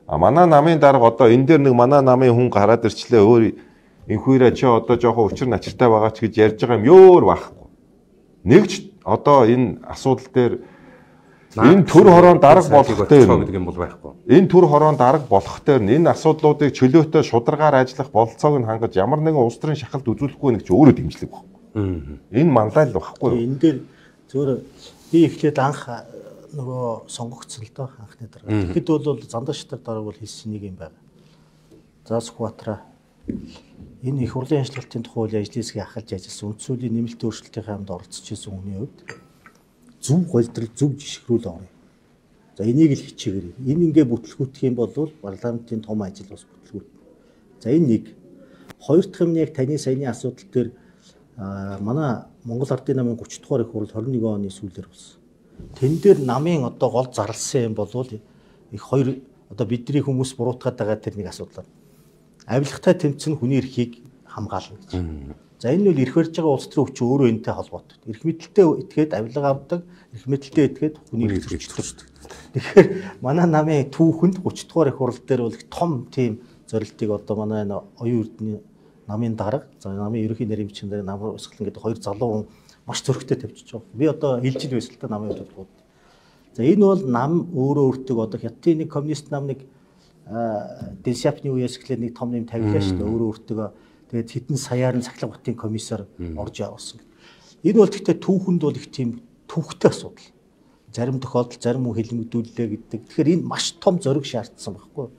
А манай намын дарга одоо энэ дээр нэг манай намын хүн гараад ирчлээ өөр энхүүрээ чи одоо жоохон өчр начиртай байгаа ч гэж ярьж байгаа юм ёор байхгүй. Нэгч одоо энэ асуудал дээр энэ төр хорон дарга болох дээр гэдэг юм бол байхгүй. Энэ төр хорон дарга болох дээр энэ асуудлуудыг чөлөөтэй шударгаар ажиллах бололцоог нь хангаж ямар нэгэн улс төрийн шахалт үзүүлэхгүй нэг ч өөрөө дэмжлэг байхгүй. Энэ манлайл байхгүй. Энэ дээр зөвөр би эхлээд анх нөгөө сонгогдсон л доо анхны дарга. Тэгэхэд бол зандаа шатар дарга бол хэлсэн нэг юм байна. За Сүхбаатараа энэ их хурлын ажиллалтын тухай үйл ажлын хэсгийг ахалж ажилласан үндсүүлийн нэмэлт өөрчлөлтийн хамт оролцож байсан хүний хувьд зөв голдрол зөв жишгрүүл орё. За энийг л хичээгээрэй. Энэ ингээ бүтлгүүтэх юм бол парламентын том ажил бас бүтлгүүт. За энэ нэг. Хоёр дахь юм нь яг таны саяны асуудал дээр манай Монгол Ардын намын гурван дугаар их хурл хорин нэгэн оны сүүлээр болсон. Тэн дээр намын одоо гол зарласан юм бол их хоёр одоо бидний хүмүүс буруутгаад байгаа тэр нэг асуудал. Авилгатай тэмцэн хүний эрхийг хамгаална гэж. За энэ нь эрх барьж байгаа улс төрийн хүч өөрөө энэтэй холбоотой. Эрх мэдэлтэй итгээд авилга авдаг, эрх мэдэлтэй итгээд хүний эрх зөрчилдөж. Тэгэхээр манай намын түүхэнд гурван дугаар их хурл дээр бол том тийм зорилтыг одоо манай энэ оюун эрдэнэ намын дарга, за намын ерөнхий нарийн бичгийн дарга намруу өсгөлн гэдэг хоёр залуу хүн маш зөрөгтэй тавьчихж байгаа. Би одоо хэлж ил байсан л та намын бодлогод. За энэ бол нам өөрөө өөртөө одоо хятадын нэг коммунист нам нэг Дэнсяпны үеэс эхлээд нэг том нэм тавилаа шүү дээ. Өөрөө өөртөө тэгээд хэдэн саяар нь цахилгаан хотын комиссар орж явуулсан. Энэ бол гэхдээ түүхэнд бол их тийм төвхтэй асуудал. Зарим тохиолдолд зарим хүн хэлмэгдүүллээ гэдэг. Тэгэхээр энэ маш том зориг шаардсан байхгүй.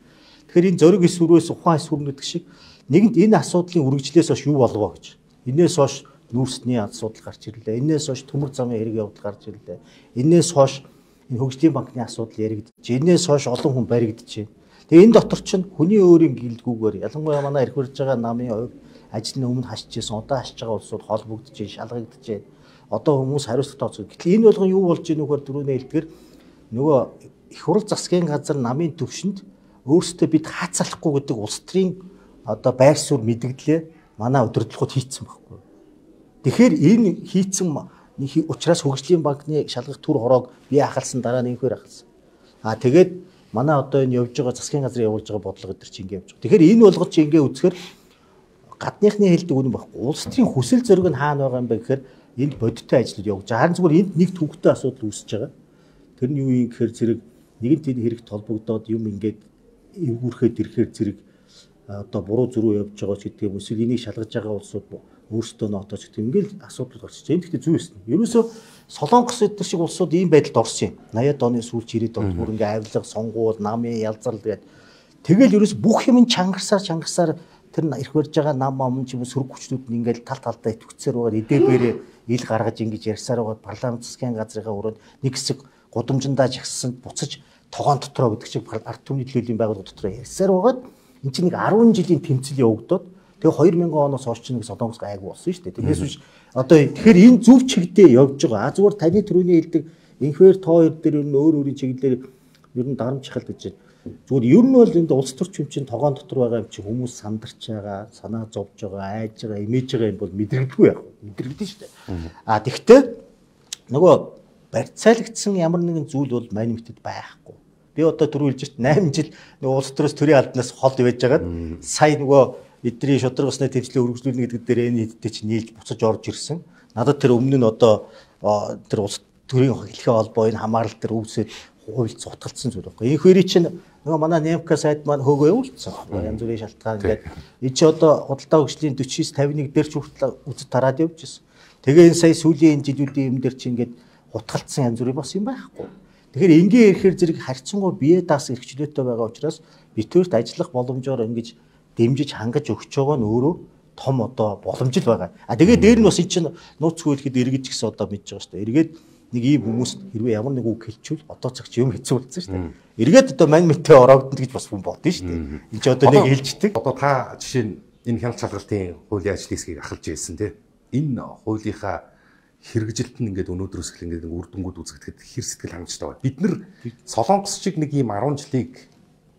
Тэгэхээр энэ зориг эсвэрээс ухаан эсвэрнүүд шиг нэгэнт энэ асуудлын үргэлжлээс хойш юу болов гэж. Энээс хойш нүүрсний асуудал гарч ирлээ. Энээс хойш төмөр замын хэрэг явдал гарч ирлээ. Энээс хойш энэ хөгжлийн банкны асуудал яригдчих. Энээс хойш олон хүн баригдчих. Тэгээ энэ дотор чинь хүний өөрийн гэлдгүүгээр ялангуяа манай эрх барьж байгаа намын хувь ажил нь өмнө хасчихсан, одоо хасж байгаа улсууд холбогдож, шалгагдаж. Одоо хүмүүс хариуцлага тооцоо. Гэтэл энэ болгон юу болж ийнэ нөхөр дөрөвнөө хэлдгэр нөгөө их хурл засгийн газар намын төвшөнд өөрсдөө бид хаацалахгүй гэдэг улс төрийн одоо байр суурь мэдгдлээ манай удирдлагууд хийцэн байхгүй. Тэгэхээр энэ хийцэн учраас хөгжлийн банкны шалгах төр хороог би ахалсан дараа нь инхээр ахалсан. Аа тэгээд манай одоо энэ явж байгаа засгийн газар явуулж байгаа бодлого өдр чи ингэ явж байгаа. Тэгэхээр энэ болгож чи ингэ үзэхээр гадныхны хэлдэг үнэн байхгүй. Улс төрийн хүсэл зориг нь хаана байгаа юм бэ гэхээр энд бодиттой ажлууд явж байгаа. Харин зүгээр энд нэг төвхтэй асуудал үүсэж байгаа. Тэр нь юу юм гэхээр зэрэг нэгэн тийм хэрэг толбогдоод юм ингээд эвгүүрхэд ирэхээр зэрэг одоо буруу зөрүү явж байгаа ч гэдэг юм эсвэл энийг шалгаж байгаа улсууд өөрсдөө нотооч гэдэг ингээл асуудал гарч ирж байна. Тэгэхдээ зүй эсна. Ерөөсөө Солонгос эдгээр шиг улсууд ийм байдалд орсон юм. восьмидад оны сүүлч ирээд он бүр ингээ авилга, сонгуул, намын ялзал гэдэг. Тэгэл ерөөс бүх юм чангарсаар чангарсаар тэр ирэх барьж байгаа нам ам ч юм уу сөрөг хүчнүүд нь ингээл тал талдаа итгцээр байгаа эдээбэрээ ил гаргаж ингэж ярьсаар байгаа парламент засгийн газрынхаа өрөөнд нэг хэсэг гудамжиндаа жагссан буцаж тогоон дотроо гэдэг чиг ард түмний төлөөллийн байгууллага дотроо ярьсаар байгаад энэ чинь нэг арван жилийн тэмцэл явагдаад тэгээ хоёр мянган оноос хойш нэг Солонгос айгу болсон шүү дээ. Тэгээс биш одоо тэгэхээр энэ зөв чигдээ явж байгаа. А зүгээр таны түрүүний хэлдэг инхвер тоо хоёр дээр ер нь өөр өөрийн чиглэлээр ер нь дарамжхал гэж байна. Зүгээр ер нь бол энэ улс төрч юм чинь тогоон дотор байгаа юм чи хүмүүс сандарч байгаа, санаа зовж байгаа, айж байгаа, имэж байгаа юм бол мэдрэгдгүй яг. Мэдрэгдэн шүү дээ. А тэгвэл нөгөө барьцаалагдсан ямар нэгэн зүйл бол манифестэд байхгүй. Би одоо түрүү хэлж байна восемь жил нөгөө улс төрөөс төрийн албанаас хол байж байгаад сая нөгөө эдний шударга усны тэмцлээ өргөжлүүлнэ гэдэг дээр энэ хэдтэй чи нийлж буцаж орж ирсэн. Надад тэр өмнө нь одоо тэр улс төрийн хэлхээ холбоо энэ хамаарал дээр өвсөд хуульц утгалцсан зүйл байхгүй. Энэ хоёрыг чинь нөгөө манай Немка сайд маань хөөгөө явуулсан. Янз бүрийн шалтгаан ингээд энэ чи одоо худалдаа хөгжлийн forty-nine fifty-one дээр ч хүртэл үзэж тараад явж ирсэн. Тэгээ энэ сая сүүлийн жилүүдийн юм дээр чи ингээд утгалцсан янз бүрийн бас юм байхгүй. Тэгэхээр ингийн ирэхээр зэрэг харьцангуй бие даас эрхчлөөтэй байгаа учраас битүүрт ажиллах боломжоор ингэж дэмжиж хангаж өгч байгаа нь өөрөө том одоо боломж л байгаа. А тэгээ дээр нь бас эн чинь нууц хөлөхэд эргэж гисэн одоо мэдж байгаа шүү дээ. Эргээд нэг ийм хүмүүс хэрвээ ямар нэг үг хэлчихвэл одоо цаг чи юм хэцүү болсон шүү дээ. Эргээд одоо мань мэтээ ороогдно гэж бас хүн бодно шүү дээ. Энд чи одоо нэг хэлждэг. Одоо та жишээ нь энэ хяналт шалгалтын хуулийн ажлын хэсгийг ахалж ирсэн тийм. Энэ хуулийнхаа хэрэгжилт нь ингээд өнөөдрөөс эхлэн ингээд үр дүнгууд үзэгдэхэд хэр сэтгэл хангамжтай байна. Бид нар Солонгос шиг нэг ийм ten жилийг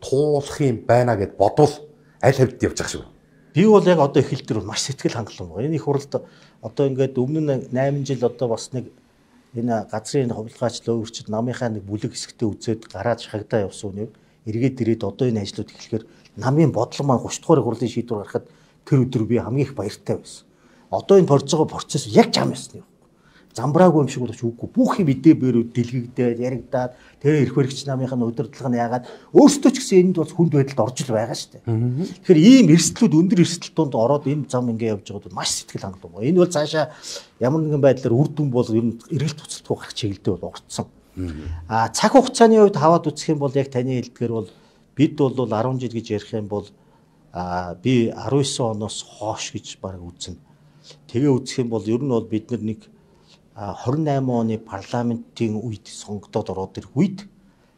туулах юм байна гэд бодвол аль хавьд явж байгаа шүү. Би бол яг одоо эхлэл дээр маш сэтгэл хангалуун байна. Энэ их хурлд одоо ингээд өмнө нь eight жил одоо бас нэг энэ газрын хувилгаачлал өөрчилд намынхаа нэг бүлэг хэсэгтээ үзээд гараад шахагдаа явсан үнийг эргээд ирээд одоо энэ ажлууд эхлэхээр намын бодлого маань thirty дугаар хурлын шийдвэр гаргахад тэр өдөр би хамгийн их баяртай байсан. Одоо энэ борж байгаа процесс яг зам ясна юм. Замбраагүй юм шиг боловч үгүй. Бүх юм идээ бэрүүд дэлгэгдээд яригдаад тэгээ эрх баригч намынх нь удирдлага нь яагаад өөрсдөө ч гэсэн энд бол хүнд байдалд орж л байгаа шүү дээ. Тэгэхээр ийм эрсдлүүд өндөр эрсдэл донд ороод энэ зам ингээ явж байгаад маш сэтгэл хангалуун. Энэ бол цаашаа ямар нэгэн байдлаар үр дүн бол ер нь эргэлт туцалтгүй гарах чиглэлдээ бол орцсон. А цаг хугацааны хувьд хаваад үзэх юм бол яг таны хэлдгээр бол бид бол ten жил гэж ярих юм бол а би nineteen оноос хойш гэж баг үзнэ. Тэгээ үзэх юм бол ер нь бол бид нар нэг twenty-eight оны парламентын үед сонгогдоод ороод ирэх үед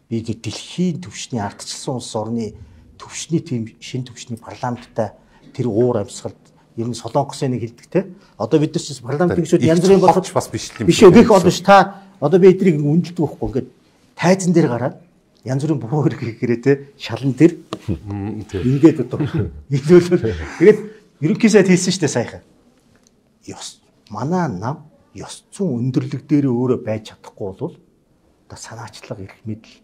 би дэлхийн түвшний ардчилсан улс орны түвшний тийм шин түвшний парламенттай тэр уур амьсгалд ер нь Солонгосын нэг хэлдэг те. Одоо бид нар ч парламент гişүүд янз бүрийн болгож бас биш юм. Биш өгөх олон ш та одоо би эдрийг үнэлдэг байхгүй ингээд тайзан дээр гараад янз бүрийн буруу хэрэг хийгээрээ те шалан дээр ингээд одоо тэгээд ерөнхий сайд хэлсэн штэ саяхан. Ёс манай нам ёс зүйн өндөрлөг дээр өөрөө байж чадахгүй бол одоо санаачлага эрх мэдэл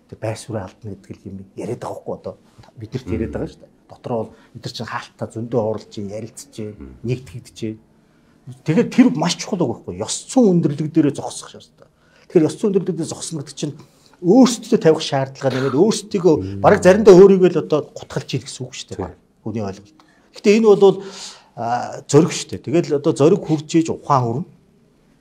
тэг байр суурь алдна гэдэг юм яриад байгаа хгүй одоо бидэрт яриад байгаа шүү дээ. Дотроо бол бид нар чинь хаалтаа зөндөө оруулж ярилцж нэгтгэгдэж. Тэгэхээр тэр маш чухал байгаа хгүй ёс зүйн өндөрлөг дээрээ зогсох шаардлагатай. Тэгэхээр ёс зүйн өндөрлөг дээр зогсно гэдэг чинь өөрсдөө тавих шаардлага нэмээд өөрсдөө бараг заримдаа өөрийгөө л одоо гутгалж ийн гэсэн үг шүү дээ. Хүний ойлголт. Гэхдээ энэ бол зориг шүү дээ. Тэгэл одоо зориг хүрж иж ухаан хүрнэ.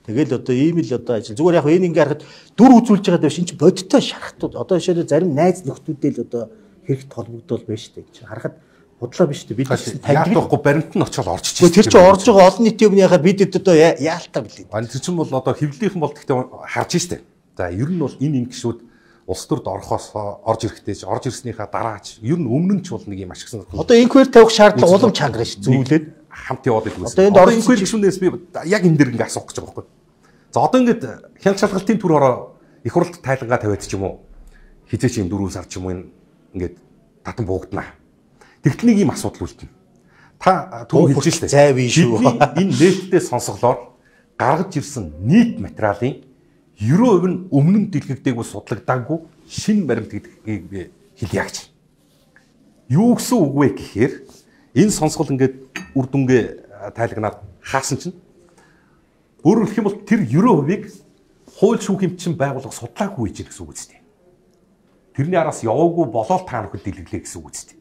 Тэгэл одоо ийм л одоо ажил. Зүгээр яг энэ ингээ харахад дүр үзүүлж байгаа дэвш энэ ч бодиттой шархтууд. Одоо жишээлбэл зарим найз нөхдүүдээ л одоо хэрэгт холбогдвол байна шүү дээ. Чи харахад худлаа биш үү? Бид яг тоохгүй баримт нь очиод орж ичсэн. Тэр чинь орж байгаа олон нийтийн өмнө яхаар бид одоо яалтаа билээ. Ань тэр чинь бол одоо хэвлэлийнхэн бол гэхдээ харж штэ. За ер нь бол энэ ин гişүүд улс төрд орохоос орж ирэхтэй ч орж ирснийхаа дараач ер нь өмнө нь ч бол нэг юм ашигсан. Одоо инквер тавих шаардлага улам чангарна шүү. Зүйлээд хамт яваад идэгсэн. Одоо энд орж инквер гişүүнээс би яг энэ дэр ингээ асуух гэж байгаа байхгүй. За одоо ингээд хяналт шалгалтын төр ороо их хурлд тайлангаа тавиад ч юм уу хизээч юм дөрвөн сар ч юм уу ингээд татан буугдана. Тэгтэл нэг юм асуудал үлдэнэ. Та түрүү хэлж штэ. Зай бий шүү. Энэ нээлттэй сонсголоор гаргаж ирсэн нийт материалын ninety percent нь өмнө нь дэлгэгдээгүй судлагдаагүй шинэ баримт гэдгийг би хэлье. Юу гэсэн үг вэ гэхээр энэ сонсгол ингээд үр дүнгээ тайлагнаад хаасан чинь өөрөөр хэлэх юм бол тэр ninety percent-ийг хууль шүүхийн чинь байгууллага судлаагүй гэж гэсэн үг үстэй. тэрний араас яваагүй болоод та нөхөд дэлгэглээ гэсэн үг үстэй.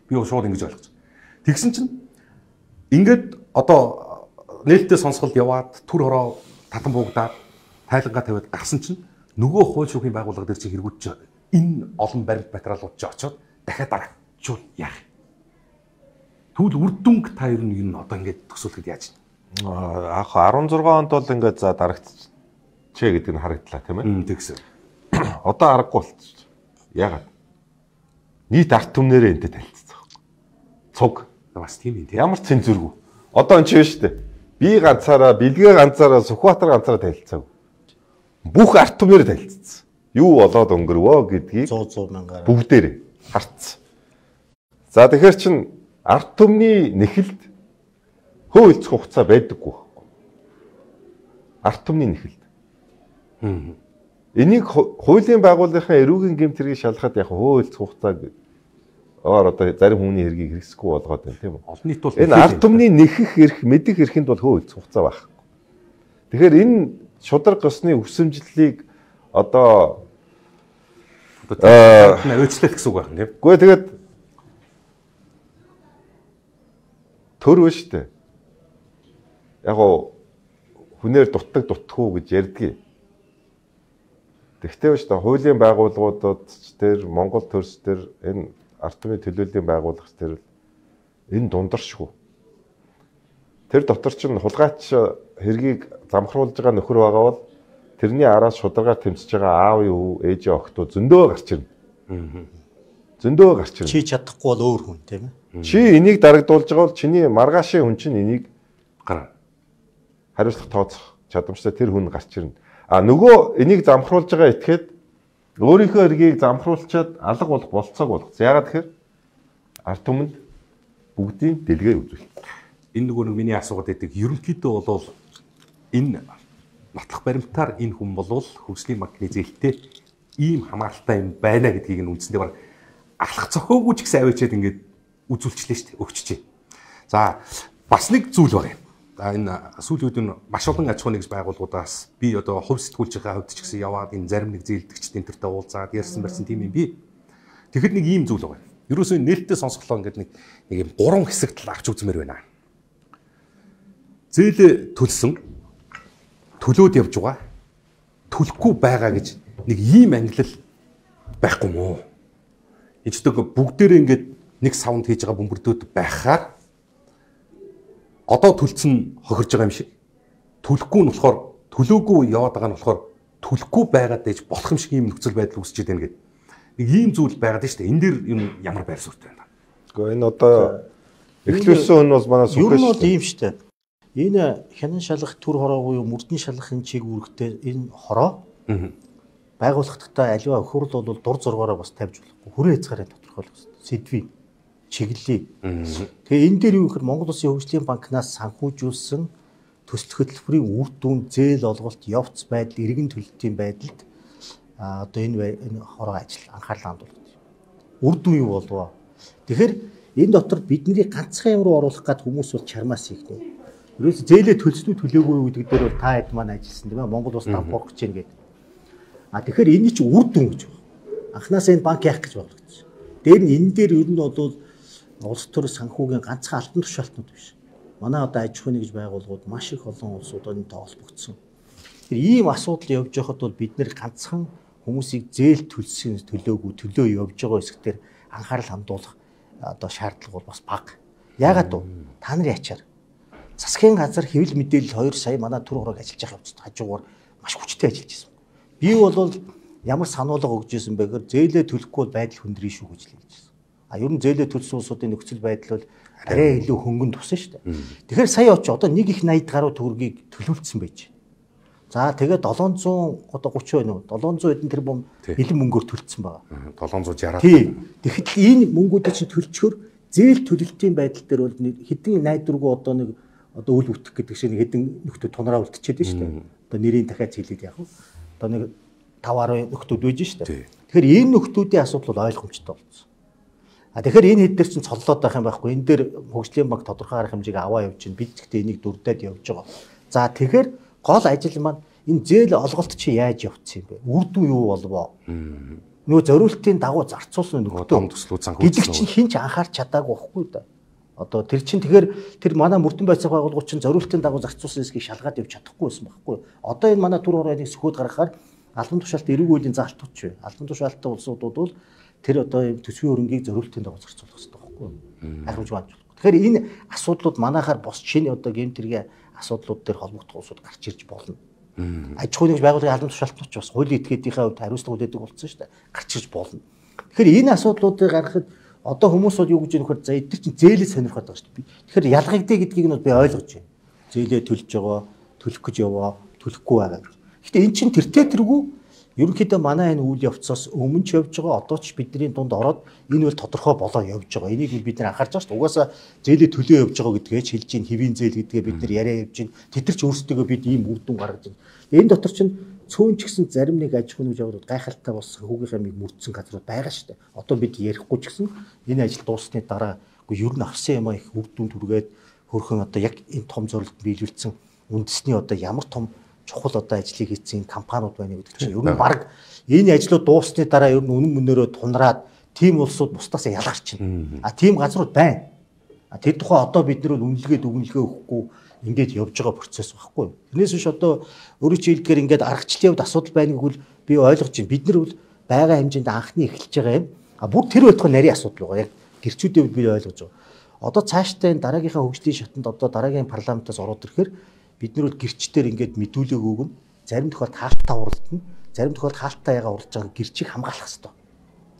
Би шууд ингэж ойлгож. Тэгсэн чинь ингээд одоо нээлттэй сонсголд яваад түр хороо татан буугдаад тайлангаа тавиад гарсан чинь нөгөө хууль шүүхийн байгууллага дээр чинь хэрэгүүдч энэ олон баримт материалууд ч очоод дахиад дарагдчихвол яах вэ? Тэгвэл үр дүнг та ер нь энэ одоо ингээд төсөөлөхөд яаж вэ? Аах арван зургаан онд бол ингээд за дарагдчихэ гэдэг нь харагдлаа тийм ээ. Тэгсэн. Одоо аргагүй болчих. Яагаад? Нийт арт түмнэрээ энтэй танилцсан. Цуг. Бас тийм юм тийм. Ямар цензургүй. Одоо энэ чинь шүү дээ. Би ганцаараа, бэлгээ ганцаараа, Сүхбаатар ганцаараа танилцаагүй. Бүх арт түмнэрээ танилцсан. Юу болоод өнгөрвөө гэдгийг сто сто мянгаар бүгдээрээ харцсан. За тэгэхээр чин арт түмний нэхэлд хөөөлцөх хугацаа байдаггүй байхгүй. Арт түмний нэхэлд. Энийг хуулийн байгууллагын эрүүгийн гэмтрийг шалгахад яг хөөөлцөх хугацааг оор одоо зарим хүний хэргийг хэрэгсэхгүй болгоод байна тийм үү? Олон нийт бол энэ арт түмний нэхэх эрх, мэдэх эрхэнд бол хөөөлцөх хугацаа байхгүй. Тэгэхээр энэ шударга ёсны өвсөмжлөлийг одоо одоо өөчлөх гэсэн үг байна тийм. Гэхдээ тэгээд төр вэ штэ. Яг гоо хүнээр дутдаг дутхгүй гэж ярьдгийг. Тэгтээ шүү дээ хуулийн байгууллагуудад тэр Монгол төрс төр энэ арт түмний төлөөллийн байгууллагч төр энэ дундаршгүй. Тэр дотор ч хулгайч хэргийг замхруулж байгаа нөхөр байгаа бол тэрний араас шударгаар тэмцэж байгаа аавын өвөө, ээжийн охтоо зөндөө гарч ирнэ. Зөндөө гарч ирнэ. Чи чадахгүй бол өөр хүн тийм ээ. Чи энийг дарагдуулж байгаа бол чиний маргаашийн хүн чинь энийг гараа хариуцлах тооцох чадамжтай тэр хүн гарч ирнэ. А нөгөө энийг замхруулж байгаа этгээд өөрийнхөө эргийг замхруулчаад алга болох болцоог болгоцсон. Яагаад тэгэхээр арт түмэнд бүгдийн дэлгээ үзүүлэх. Энэ нөгөө нэг миний асуугаад байдаг. Ерөнхийдөө бол энэ нотлох баримтаар энэ хүн болвол хөгжлийн банкны зээлтэй ийм хамааралтай юм байна гэдгийг нь үндсэндээ баг алах зохиогүй ч гэсэн авчиад ингээд үзүүлчлээ шүү дээ. Өгчжээ. За бас нэг зүйл байна. За энэ сүүлийн үед нь маш олон аж ахуйн нэгж байгууллагуудаас би одоо хувь сэтгүүлчийнхаа хувьд ч гэсэн яваад энэ зарим нэг зээлдэгчдийн төртөө уулзаад ярьсан барьсан тийм юм би. Тэгэхэд нэг ийм зүйл байна. Ерөөсөө нээлттэй сонсголоо ингээд нэг нэг юм гурван хэсэгт авч үзмээр байна. Зээл төлсөн төлөөд явж байгаа төлөхгүй байгаа гэж нэг ийм ангилал байхгүй мó. Ичдэг бүгдээрээ ингээд нэг саунд хийж байгаа бөмбөрдөөд байхаар одоо төлцөн хохирж байгаа юм шиг төлөхгүй нь болохоор төлөөгүй яваад байгаа нь болохоор төлөхгүй байгаад байж болох юм шиг ийм нөхцөл байдал үүсчихэд байна гэдэг. Нэг ийм зүйл байгаад байна шүү дээ. Энэ дээр юм ямар байр суурь байна. Гэхдээ энэ одоо эхлүүлсэн хүн бол манай сүхэж. Ер нь бол ийм шүү дээ. Энэ хянан шалгах төр хороогүй юу мөрдөн шалгахын чиг үүрэгтэй энэ хороо байгууллагатай аливаа өхөрл бол дур зургаараа бас тавьж болохгүй. Хүрээ хязгаарын тодорхойлох хэрэгтэй. Сэдвийн чиглэлийг. Тэгээ энэ дээр юу гэхээр Монгол Улсын хөгжлийн банкнаас санхүүжүүлсэн төсөл хөтөлбөрийн үр дүн зээл олголт явц байдал иргэн төлөлтийн байдалд одоо энэ энэ хороо ажил анхаарлаа хандуулдаг. Үр дүн юу болов? Тэгэхээр энэ дотор бидний ганцхан юм руу оруулах гад хүмүүс бол чармаас хийгнэ. Ерөөс зээлээ төлснүү төлөөгүй юу гэдэг дээр бол та хэд маань ажилласан тийм ээ Монгол Улс дампуурах гэж байна гэдэг. А тэгэхээр энэ чинь үр дүн гэж байна. Анхнаасаа энэ банк яах гэж болгочихсон. Дээр нь энэ дээр ер нь бол улс төр санхүүгийн ганцхан алтан тушаалтнууд биш. Манай одоо аж ахуйн нэгж байгууллагууд маш их олон улсуудад энэ тоолбогдсон. Тэр ийм асуудал явж байхад бол бид нэр ганцхан хүмүүсийг зээл төлсөн төлөөгүй төлөө явж байгаа хэсгээр анхаарал хандуулах одоо шаардлага бол бас бага. Яагаад вэ? Та нарын ачаар засгийн газар хэвлэл мэдээлэл хоёр сая манай төр хороог ажиллаж байгаа явцад хажуугаар маш хүчтэй ажиллаж байсан. Би бол ямар сануулга өгж ирсэн бэ гэхээр зээлээ төлөхгүй бол байдал хүндрээ шүү гэж хэлж байсан. А ер нь зээлээ төлсөн улсуудын нөхцөл байдал бол арай илүү хөнгөн тусан шүү дээ. Тэгэхээр сая очи одоо нэг их найд гаруй төгрөгийг төлөвлөсөн байж. За тэгээд долоон зуун одоо гучин байна уу? долоон зуун эдэн тэрбум бэлэн мөнгөөр төлцсөн байгаа. долоон зуун шестьдесят. Тийм. Тэгэхэд энэ мөнгүүдийг чинь төлчгөр зээл төлөлтийн байдал дээр бол хэдэн найд дургу одоо нэг одоо үл үтэх гэдэг шиг нэг хэдэн нөхдөд тунараа үлдчихэд байна шүү дээ. Одоо нэрийн дахиад хэлээд яг. Одоо нэг тавь арван нөхдүүд байж шүү дээ. Тэгэхээр энэ нөхдүүдийн асуудал бол ойлгомжтой болсон. А тэгэхээр энэ хэд дээр чинь цоллоод байх юм байхгүй. Энэ дээр хөгжлийн банк тодорхой арга хэмжээг аваа явж чинь бид гэхдээ энийг дүрдээд явж байгаа. За тэгэхээр гол ажил маань энэ зээл олголт чи яаж явцсан юм бэ? Үр дүн юу болвоо? нөгөө зориултын дагуу зарцуулсан нөгөө том төслүүд санхүүжилсэн гэдэг чинь хинч анхаарч чадаагүй байхгүй да. Одоо тэр чинь тэгэхээр тэр манай мөрдөн байцаах байгууллагууд чинь зориултын дагуу зарцуулсан хэсгийг шалгаад явж чадахгүй байсан байхгүй. Одоо энэ манай түр хорооны сөхөөд гаргахаар албан тушаалт эрүүг үеийн заалтууд ч вэ. Албан тушаалттай улсуудууд бол тэр одоо төсвийн хөрөнгийг зориултын дагуу зарцуулах хэрэгтэй байхгүй. Хариуж байна. Тэгэхээр энэ асуудлууд манайхаар бос шинэ одоо гэмтэргийн асуудлууд дээр холбогдох улсууд гарч ирж болно. Аж ахуйн нэгж байгууллагын албан тушаалтнууд ч бас хуулийн этгээдийнхээ хувьд хариуцлага үлээдэг болсон шүү дээ. Гарч ирж болно. Тэгэхээр энэ асуудлуудыг гаргахад одоо хүмүүс бол юу гэж юм хэр за эдгээр чинь зээлээ сонирхоод байгаа шүү дээ. Тэгэхээр ялгагдъя гэдгийг нь би ойлгож байна. Зээлээ төлж байгаа, төлөх гэж яваа, төлөхгүй байгаа. Гэхдээ эн чинь тэртээ тэргүй ерөнхийдөө манай энэ үйл явцаас өмнө ч явж байгаа, одоо ч бидний дунд ороод энэ бол тодорхой болоо явж байгаа. Энийг бид нар анхаарч байгаа шүү дээ. Угаасаа зээлээ төлөө явж байгаа гэдгээ хэлж чинь хэвийн зээл гэдгээ бид нар яриа явж чинь тэд нар ч өөрсдөө бид ийм үр дүн гаргаж байна. Энэ дотор чинь цөөн ч гэсэн зарим нэг аж ахуйн нэгж гайхалтай болсон хүүгийнхээ миг мөрдсөн газрууд байгаа шүү дээ. Одоо бид ярихгүй ч гэсэн энэ ажил дууссаны дараа үгүй ер нь авсан юм их үр дүн түргээд хөрхөн одоо яг энэ том зорилт биелүүлсэн үндэсний одоо ямар том чухал одоо ажлыг хийсэн компаниуд байна гэдэг чинь ер нь баг энэ ажлууд дууссаны дараа ер нь үнэн мөнөөрөө тунраад тийм улсууд бусдаас ялгарчихна. А тийм газрууд байна. А тэр тухай одоо бид нар үнэлгээ дүгнэлгээ өгөхгүй ингээд явж байгаа процесс байхгүй. Тэрнээс биш одоо өөрөөр хэлбэл ингээд аргачлалын хувьд асуудал байна гэвэл би ойлгож байна. Бид нар бол байгаа хэмжээнд анхны эхэлж байгаа юм. А бүр тэр байтугай нарийн асуудал байгаа. Яг гэрчүүдийн хувьд би ойлгож байгаа. Одоо цаашдаа энэ дараагийнхаа хөгжлийн шатанд одоо дараагийн парламентаас ороод ирэхээр бид нар бол гэрчдээр ингээд мэдүүлэг өгнө. Зарим тохиолдолд хаалттай уралдана. Зарим тохиолдолд хаалттай ягаа уралж байгаа гэрчийг хамгаалах хэрэгтэй.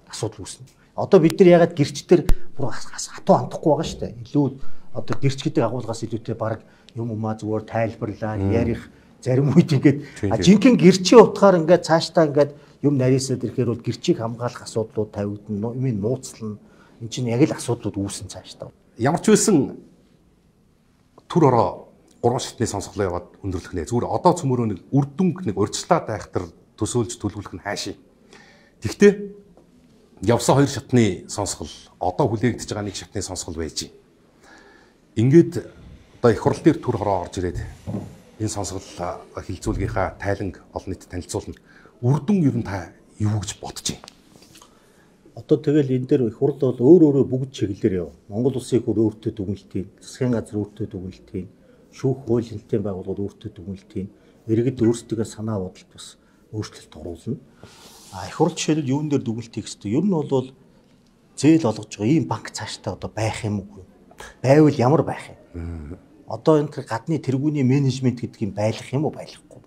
Асуудал үүснэ. Одоо бид нар ягаад гэрчдэр бүр хатуу андахгүй байгаа шүү дээ. Илүү одоо гэрч гэдэг агуулгаас илүүтэй баг юм умаа зүгээр тайлбарлаа, ярих зарим үед ингээд жинхэнэ гэрчийн утгаар ингээд цаашдаа ингээд юм нарийсаад ирэхээр бол гэрчийг хамгаалах асуудлууд тавигдана, юм нууцлна. Энд чинь яг л асуудлууд үүсэн цаашдаа. Ямар ч байсан түр ороо гурван шатны сонсголоо яваад өндөрлөх нэ. Зүгээр одоо цөмөрөө нэг үр дүнг нэг урьдчилаад байхтар төсөөлж төлөвлөх нь хаашийн. Тэгвэл явсан хоёр шатны сонсгол одоо хүлээгдэж байгаа нэг шатны сонсгол байж. Ингээд одоо их хурл дээр түр хороо орж ирээд энэ сонсгол хилцүүлгийнхаа тайланг олон нийтэд танилцуулна. Үр дүн ер нь та юу гэж бодож байна? Одоо тэгэл энэ дээр их хурл бол өөр өөрө бүгд чиглэлээр яв. Монгол улсын хөр өөртөө дүгнэлтийн, засгийн газар өөртөө дүгнэлтийн, шүүх хууль нэлтийн байгууллагууд өөртөө дүгнэлтийн, иргэд өөрсдөө санаа бодолд бас өөрчлөлт оруулна. А их хурл жишээлбэл юун дээр дүгнэлт хийх хэрэгтэй? Ер нь бол зээл олгож байгаа ийм банк цаашдаа одоо байх юм уу? Байвал ямар байх юм? Одоо энэ гадны тэргүүний менежмент гэдэг юм байлах юм уу, байлахгүй.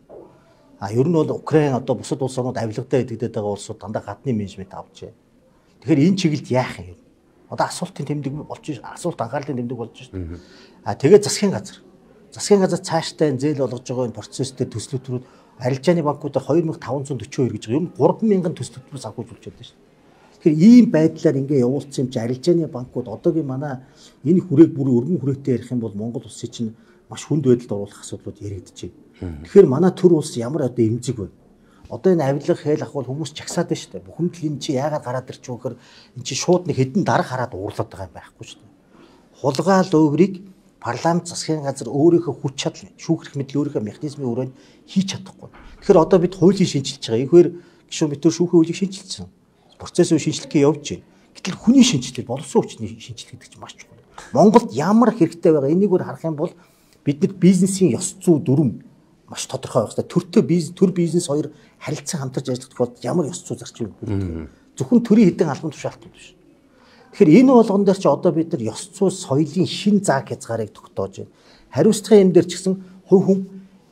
А ер нь бол Украин одоо бусад улс орнууд авилгадаа идэгдээд байгаа улсууд дандаа гадны менежмент авч байна. Тэгэхээр энэ чиглэлд яах юм? Одоо асуултын тэмдэг болж ш, асуулт анхаарлын тэмдэг болж ш. А тэгээд засгийн газар. Засгийн газар цаашдаа энэ зээл олгож байгаа энэ процесс дээр төслөтрүүд арилжааны банкудаар хоёр мың таван зуун дөрвөн хоёр гэж байгаа. Ер нь гурван мянган төслөтрөөс авахгүйж байна шүү дээ. Тэгэхээр ийм байдлаар ингээ явуулсан юм чи арилжааны банкуд одоогийн манай энэ хүрээг бүр өргөн хүрээтэй ярих юм бол Монгол улсын чинь маш хүнд байдалд оруулах асуудлууд яригдчихэ. Тэгэхээр манай төр улс ямар одоо эмзэг вэ? Одоо энэ авилга хэл ахвал хүмүүс чагсаад байна шүү дээ. Бүхэмдэл энэ чи яагаад гараад ирч вэ гэхээр энэ чи шууд нэг хэдэн дарга хараад уурлаад байгаа юм байхгүй шүү дээ. Хулгаал өврийг парламент засгийн газар өөрийнхөө хүч чадал шүүхрэх мэдл өөрийнхөө механизмын өрөөнд хийж чадахгүй. Тэгэхээр одоо бид хуулийн шинжилж байгаа. Ихэр гишүүн битүүр шүүхийн хуулийг шинжилсэн. Процессын шинжилгээ явж байна. Гэтэл хүний шинжилгээ боловсон хүчний шинжилгээ гэдэг чинь маш чухал. Монголд ямар хэрэгтэй байгаа энийг өөр харах юм бол бидний бизнесийн ёс зүй дүрм маш тодорхой байх хэрэгтэй. Төртөө бизнес, төр бизнес хоёр харилцан хамтарч ажиллах тохиолдолд ямар ёс зүй зарчим бүрддэг. Зөвхөн төрийн хэдэн албан тушаалтууд биш. Тэгэхээр энэ болгон дээр чи одоо бид нар ёс зүй соёлын шин зааг хязгаарыг тогтоож байна. Хариуцлагын юм дээр ч гэсэн хувь хүн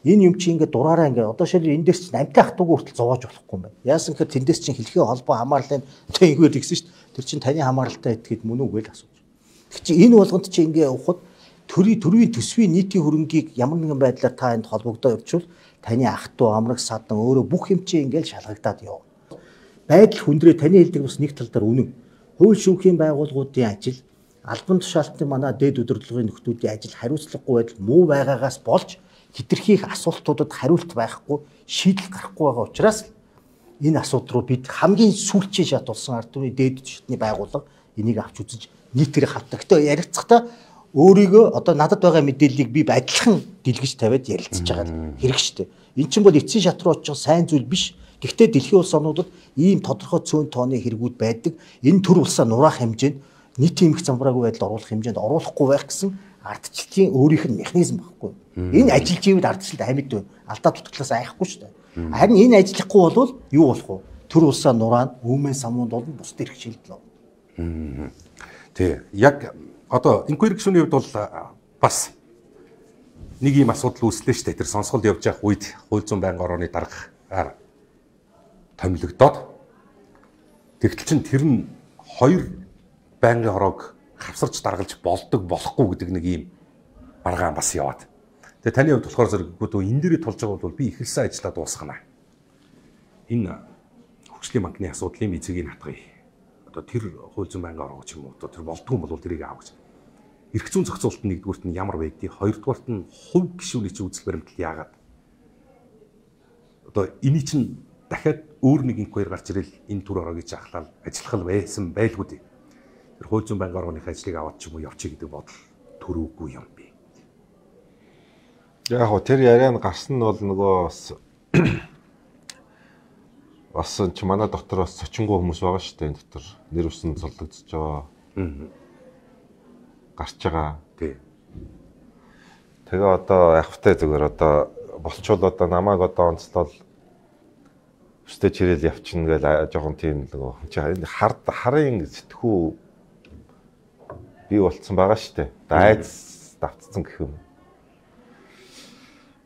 энэ юм чи ингээд дураараа ингээд одоо шил энэ дээр чинь амтай хатуугүй хүртэл зовоож болохгүй юм байна. Яасан гэхээр тэндээс чинь хэлхээ холбоо хамаарлын одоо ингэвэр тэгсэн шүү дээ. Тэр чинь таны хамааралтай этгээд мөн үгүй л асууж. Тэг чи энэ болгонд чи ингээд явахад төрийн төрийн төсвийн нийтийн хөрөнгийг ямар нэгэн байдлаар та энд холбогдоо явуучвал таны ах トゥ амраг садан өөрөө бүх юм чи ингээд шалгагдаад яв. Байдал хүндрээ таны хэлдэг бас нэг тал дээр үнэн. Хууль шүүхийн байгууллагуудын ажил, албан тушаалтны манай дэд удирдлагын нөхдүүдийн ажил хариуцлагагүй байдал муу байгаагаас болж хэтэрхийх асуултуудад хариулт байхгүй, шийдэл гарахгүй байгаа учраас энэ асуудал руу бид хамгийн сүүлчийн шат болсон ард түмний дэд шатны байгууллага энийг авч үзэж нийтээр хавтдаг. Гэтэ ярилцахдаа өөрийгөө одоо надад байгаа мэдээллийг би адилхан дэлгэж тавиад ярилцаж байгаа хэрэг штэ. Эн чинь бол эцсийн шат руу очих сайн зүйл биш. Гэхдээ дэлхийн улс орнуудад ийм тодорхой цөөн тооны хэрэгүүд байдаг. Энэ төр улсаа нураах хэмжээнд нийтийн эмх замбраагүй байдалд оруулах хэмжээнд оруулахгүй байх гэсэн ардчлалын өөрийнх нь механизм багхгүй. Энэ ажиллаж ивэл ардчлалд амьд байна. Алдаа дутагдлаас айхгүй шүү дээ. Харин энэ ажиллахгүй бол юу болох вэ? Төр улсаа нураана, өвмэн самуунд бол бусд эрх шилдэл. Тий. Яг одоо инквери гишүүний хувьд бол бас нэг юм асуудал үүслээ шүү дээ. Тэр сонсголд явж явах үед хууль зүйн байнгын орооны даргаар томилогдоод тэгтэл чин тэр нь хоёр байнгын ороог хавсарч даргалж болдог болохгүй гэдэг нэг юм баргаан бас яваад. Тэгээ таны хувьд болохоор зэрэггүй энэ дээрээ тулж байгаа бол би ихэлсэн ажиллаа дуусгана. Энэ хөгжлийн банкны асуудлын эцгийг хатгая. Одоо тэр хууль зүйн байнгын ороо ч юм уу одоо тэр болдгүй юм бол тэрийг аав гэж. Эрх зүйн зохицуулалт нь нэгдүгüүрт нь ямар байдгийг, хоёрдугаарт нь хувь гишүүний чинь үзэл баримтал яагаад. Одоо эний чинь дахиад өөр нэг инквайр гарч ирэл энэ төр ороог жахлал ажиллах байсан байлгүй дээ. Тэр хууль зүйн байнгын орооны ажлыг аваад ч юм уу явчих гэдэг бодол төрөөгүй юм би. Яг хөө тэр яриан гарсан нь бол нөгөө бас бас ч манай дотор бас цочингуу хүмүүс байгаа шүү дээ энэ дотор нэр усан золдогдож байгаа. Гарч байгаа. Тий. Тэгээ одоо явахтай зүгээр одоо болчвол одоо намайг одоо онцлол өстэй чирэл явчихна гэж жоохон тийм нөгөө энэ хард харын сэтгүү бий болцсон байгаа шүү дээ. Айц давтцсан гэх юм.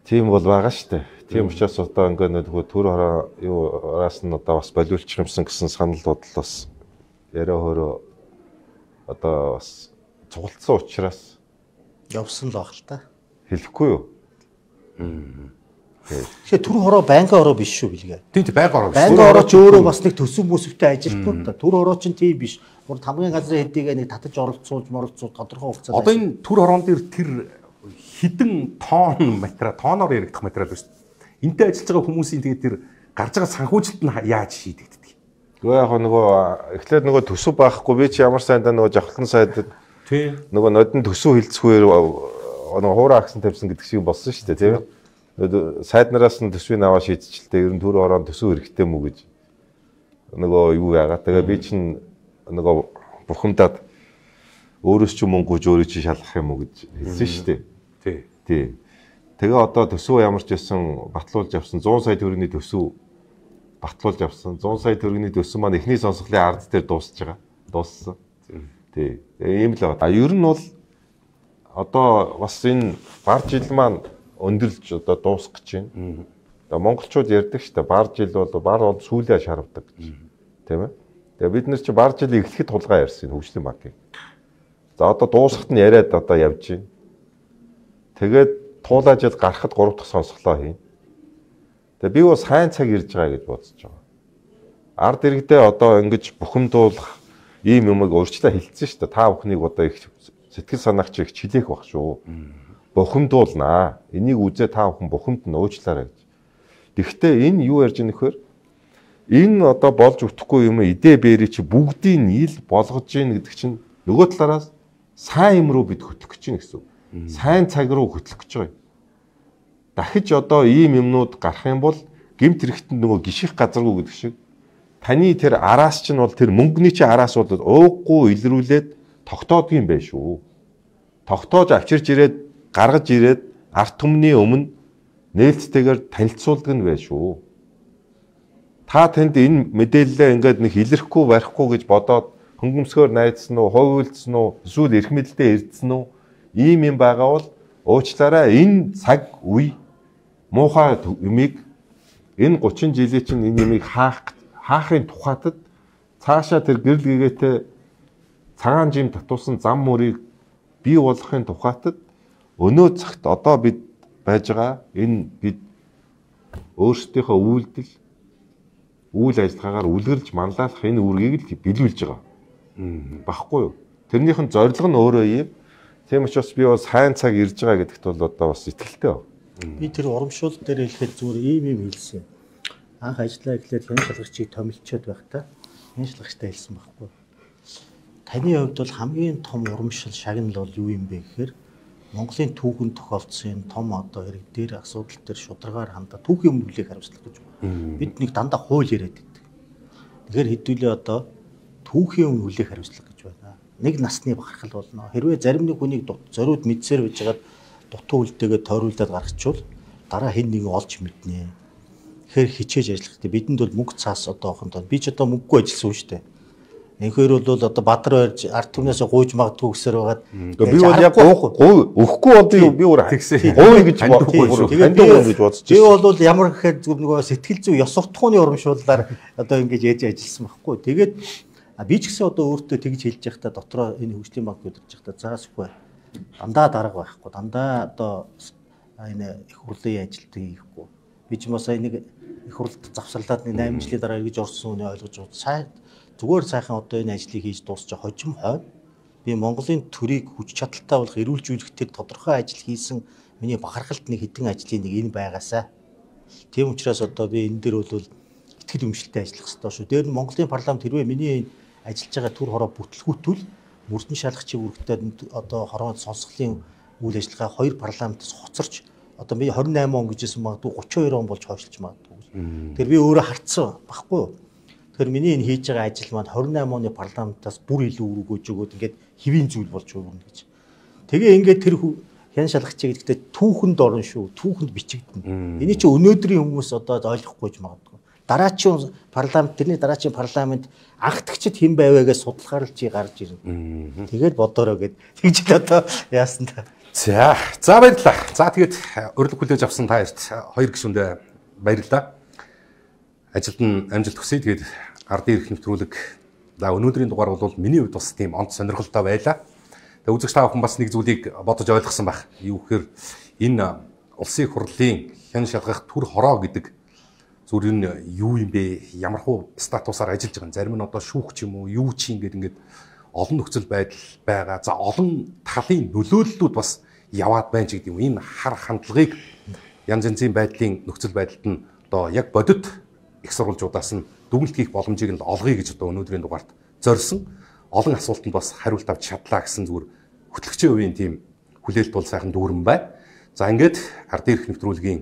Тийм бол байгаа шүү дээ. Тийм учраас одоо ингээ нөгөө төр хороо юу араас нь одоо бас болиулчих юмсан гэсэн санал бодол бас яриа хөрөө одоо бас цугалтсан учраас явсан л баг л та. Хэлэхгүй юу? Тэгэхээр төр хороо байнгын ороо биш шүү билгээ. Тийм тийм байнгын ороо биш. Байнгын ороо ч өөрөө бас нэг төсөв мөсөвтэй ажилтнууд та. Төр хороо ч тийм биш. Гур хамгийн газрын хэдийгээ нэг татаж оролцуулж моролцуулж тодорхой хугацаанд. Одоо энэ төр хороон дээр тэр хідэн тонн материал, тоноор яригдах материал биш. Энтэй ажиллаж байгаа хүмүүсийн тэгээд тэр гарч байгаа санхүүжилт нь яаж шийдэгддэг? Гэхдээ яг нөгөө эхлээд нөгөө төсөв байхгүй би чи ямар сайдаа нөгөө жавхлан сайдад тий нөгөө нодон төсөв хилцэхүүр нөгөө хуурай агсан тавьсан гэдэг шиг болсон шүү дээ тийм. Сайднараас нь төсвийг аваа шийдчихэлтэй ер нь төр хороон төсөв хэрэгтэй мүү гэж нөгөө юу яагаад тэгээ би чинь нөгөө бухимдаад өөрөөс ч мөнгө гүйж өөрөө чи шалгах юм уу гэж хэлсэн шүү дээ. Тий. Тий. Тэгээ одоо төсөв ямар ч байсан батлуулж авсан зуун сая төгрөгийн төсөв батлуулж авсан зуун сая төгрөгийн төсөв маань эхний сонсголын ард дээр дуусж байгаа. Дууссан. Тий. Ийм л байна. А ер нь бол одоо бас энэ бар жил маань өндөрлж одоо дуусах гэж байна. Одоо монголчууд ярьдаг шүү дээ. Бар жил бол бар бол сүүлээ шаравдаг гэж. Тийм ээ. Тэгээ бид нар чи бар жил эхлэхэд тулгаа ярьсан хөгжлийн банкыг. За одоо дуусахт нь яриад одоо явж байна. Тэгээд туулаа жил гарахад гурав дахь сонсголоо хийн. Тэгээ би бас сайн цаг ирж байгаа гэж бодож байгаа. Ард иргэдээ одоо ингэж бухимдуулах ийм юмыг өөрчлөө хэлсэн шүү дээ. Та бүхнийг одоо их сэтгэл санаагч их чилээх баг шүү. Бухимдуулнаа. Энийг үзээ та бүхэн бухимдна уучлаарай гэж. Гэхдээ энэ юу ярьж байгаа нөхөр? Энэ одоо болж өгөхгүй юм идэ бэрий чи бүгдийг нийл болгож гин гэдэг чинь нөгөө талаараас сайн юм руу бид хөтлөх гэж байна гэсэн үг. Сайн цаг руу хөтлөх гэж байгаа юм. Дахиж одоо ийм юмнууд гарах юм бол гэмт хэрэгтэнд нөгөө гიშих газаргүй гэдэг шиг таны тэр араас чинь бол тэр мөнгөний чинь араас бол ууггүй илрүүлээд тогтоодгийм байх шүү. Тогтоож авчирж ирээд гаргаж ирээд арт түмний өмнө нээлттэйгээр танилцуулдаг нь байх шүү. Та тэнд энэ мэдээлэлээ ингээд нэг илэрхгүй барихгүй гэж бодоод хөнгөмсгөөр найдсан уу, ховиулсан уу, эсвэл эрх мэдэлдээ эрдсэн үү? Ийм юм байгаа бол уучлаарай энэ цаг үе муухай юмыг энэ гучин жилийн чинь энэ юмыг хаах хаахын тухайтад цаашаа тэр гэрэл гэгээтэй цагаан жим татуулсан зам мөрийг бий болгохын тухайтад өнөө цагт одоо бид байж байгаа энэ бид өөрсдийнхөө үйлдэл үйл ажиллагаагаар үлгэрлж манлайлах энэ үүргийг л биелүүлж байгаа. Багхгүй юу? Тэрнийх нь зорилго нь өөрөө юм. Тийм учраас би бас сайн цаг ирж байгаа гэдэгт бол одоо бас итгэлтэй байна. Би тэр урамшуул дээр хэлэхэд зүгээр ийм юм хэлсэн. Анх ажиллаа гэхлээр хэн шалгагчийг томилчод байхдаа хэн шалгагчтай хэлсэн байхгүй. Таны хувьд бол хамгийн том урамшил шагнал бол юу юм бэ гэхээр Монголын түүхэнд тохиолдсон том одоо хэрэг дээр асуудал дээр шударгаар хандаа түүхийн өмнө хүлээх хариуцлага гэж байна. Бид нэг дандаа хууль яриад байдаг. Тэгэхээр хэдүүлээ одоо түүхийн өмнө хүлээх хариуцлага гэж байна. Нэг насны бахархал болно. Хэрвээ зарим нэг хүнийг зориуд мэдсээр байжгаад дутуу үлдээгээд тойруулаад гаргачвал дараа хэн нэгэн олж мэднэ. Тэгэхээр хичээж ажиллах хэрэгтэй. Бидэнд бол мөнгө цаас одоо охин тоо. Би ч одоо мөнгөгүй ажилласан шүү дээ. Энэхээр бол одоо Бадар байрж ард түмнээс гуйж магадгүй гэсээр байгаад би бол яг гуй өгөхгүй бол би өөр гуй гэж бодохгүй ханддаг гэж бодож байна. Би бол ямар гэхээр нөгөө сэтгэл зүй ёс суртахууны урамшууллаар одоо ингэж яаж ажилласан байхгүй. Тэгээд би ч гэсэн одоо өөртөө тэгж хэлж байхдаа дотроо энэ хөгжлийн банк удирж байхдаа заасгүй дандаа дарга байхгүй. Дандаа одоо энэ их хурлын ажилтг хийхгүй. Би ч юм уу сая нэг их хурлд завсарлаад нэг восемь жилийн дараа эргэж орсон үнийг ойлгож байна. Сайн зүгээр сайхан одоо энэ ажлыг хийж дуусчих хожим хойно би Монголын төрийг хүч чадалтай болох эрүүлжүүлэхдээ тодорхой ажил хийсэн миний бахархалт нэг хэдэн ажлын нэг энэ байгаасаа. Тийм учраас одоо би энэ дээр бол итгэл өмшөлтэй ажиллах хэрэгтэй шүү. Дээр нь Монголын парламент хэрвээ миний ажиллаж байгаа төр хороо бүтлгүүтвэл мөрдөн шалгачийн үүрэгтэй одоо хороо сонсголын үйл ажиллагаа хоёр парламентаас хоцорч одоо би двадцать восемь он гэжсэн магадгүй тридцать two он болж хойшлж магадгүй. Тэр би өөрөө харцсан баггүй юу? Тэгэхээр миний энэ хийж байгаа ажил маань двадцать восемь оны парламентаас бүр илүү үүрэг өгж өгөөд ингээд хэвийн зүйл болж өгнө гэж. Тэгээ ингээд тэр хян шалгачаа гэдэгтээ түүхэнд орно шүү. Түүхэнд бичигдэнэ. Эний чи өнөөдрийн хүмүүс одоо ойлгохгүй ч магадгүй. Дараачийн парламент тэрний дараачийн парламент анхдагчд хэн байваагаас судлахаар л чи гарч ирнэ. Тэгээд бодороо гэд тэгж л одоо яасан та. За за баярлалаа. За тэгээд урилга хүлээж авсан та хоёрт хоёр гишүүндээ баярлалаа. Ажилд нь амжилт хүсье. Тэгээд ардын эрх нэвтрүүлэг за өнөөдрийн дугаар бол миний хувьд бас тийм онц сонирхолтой байлаа. Тэгээд үзэгч та бүхэн бас нэг зүйлийг бодож ойлгосон байх. Юу гэхээр энэ улсын хурлын хян шалгах төр хороо гэдэг зүгээр нь юу юм бэ? Ямархуу статусаар ажиллаж байгаа. Зарим нь одоо шүүх ч юм уу, юу ч ингээд ингээд олон нөхцөл байдал байгаа. За олон талын нөлөөллүүд бас яваад байна ч гэдэг юм. Энэ хар хандлагыг янз янзын байдлын нөхцөл байдалд нь одоо яг бодит их сурвалжуудаас нь дүгнэлт хийх боломжийг нь олгоё гэж одоо өнөөдрийн дугаарт зорьсон. Олон асуултанд бас хариулт авч чадлаа гэсэн зүгээр хөтлөгчийн үеийн тийм хүлээлт бол сайхан дүүрэн байна. За ингээд ардын эрх нэвтрүүлгийн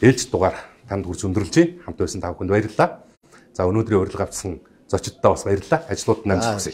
ээлж дугаар танд хүрч өндөрлж байна. Хамт байсан та бүхэнд баярлалаа. За өнөөдрийн урилга авсан зочдтой бас баярлалаа. Ажлууд нь амжилт хүсье.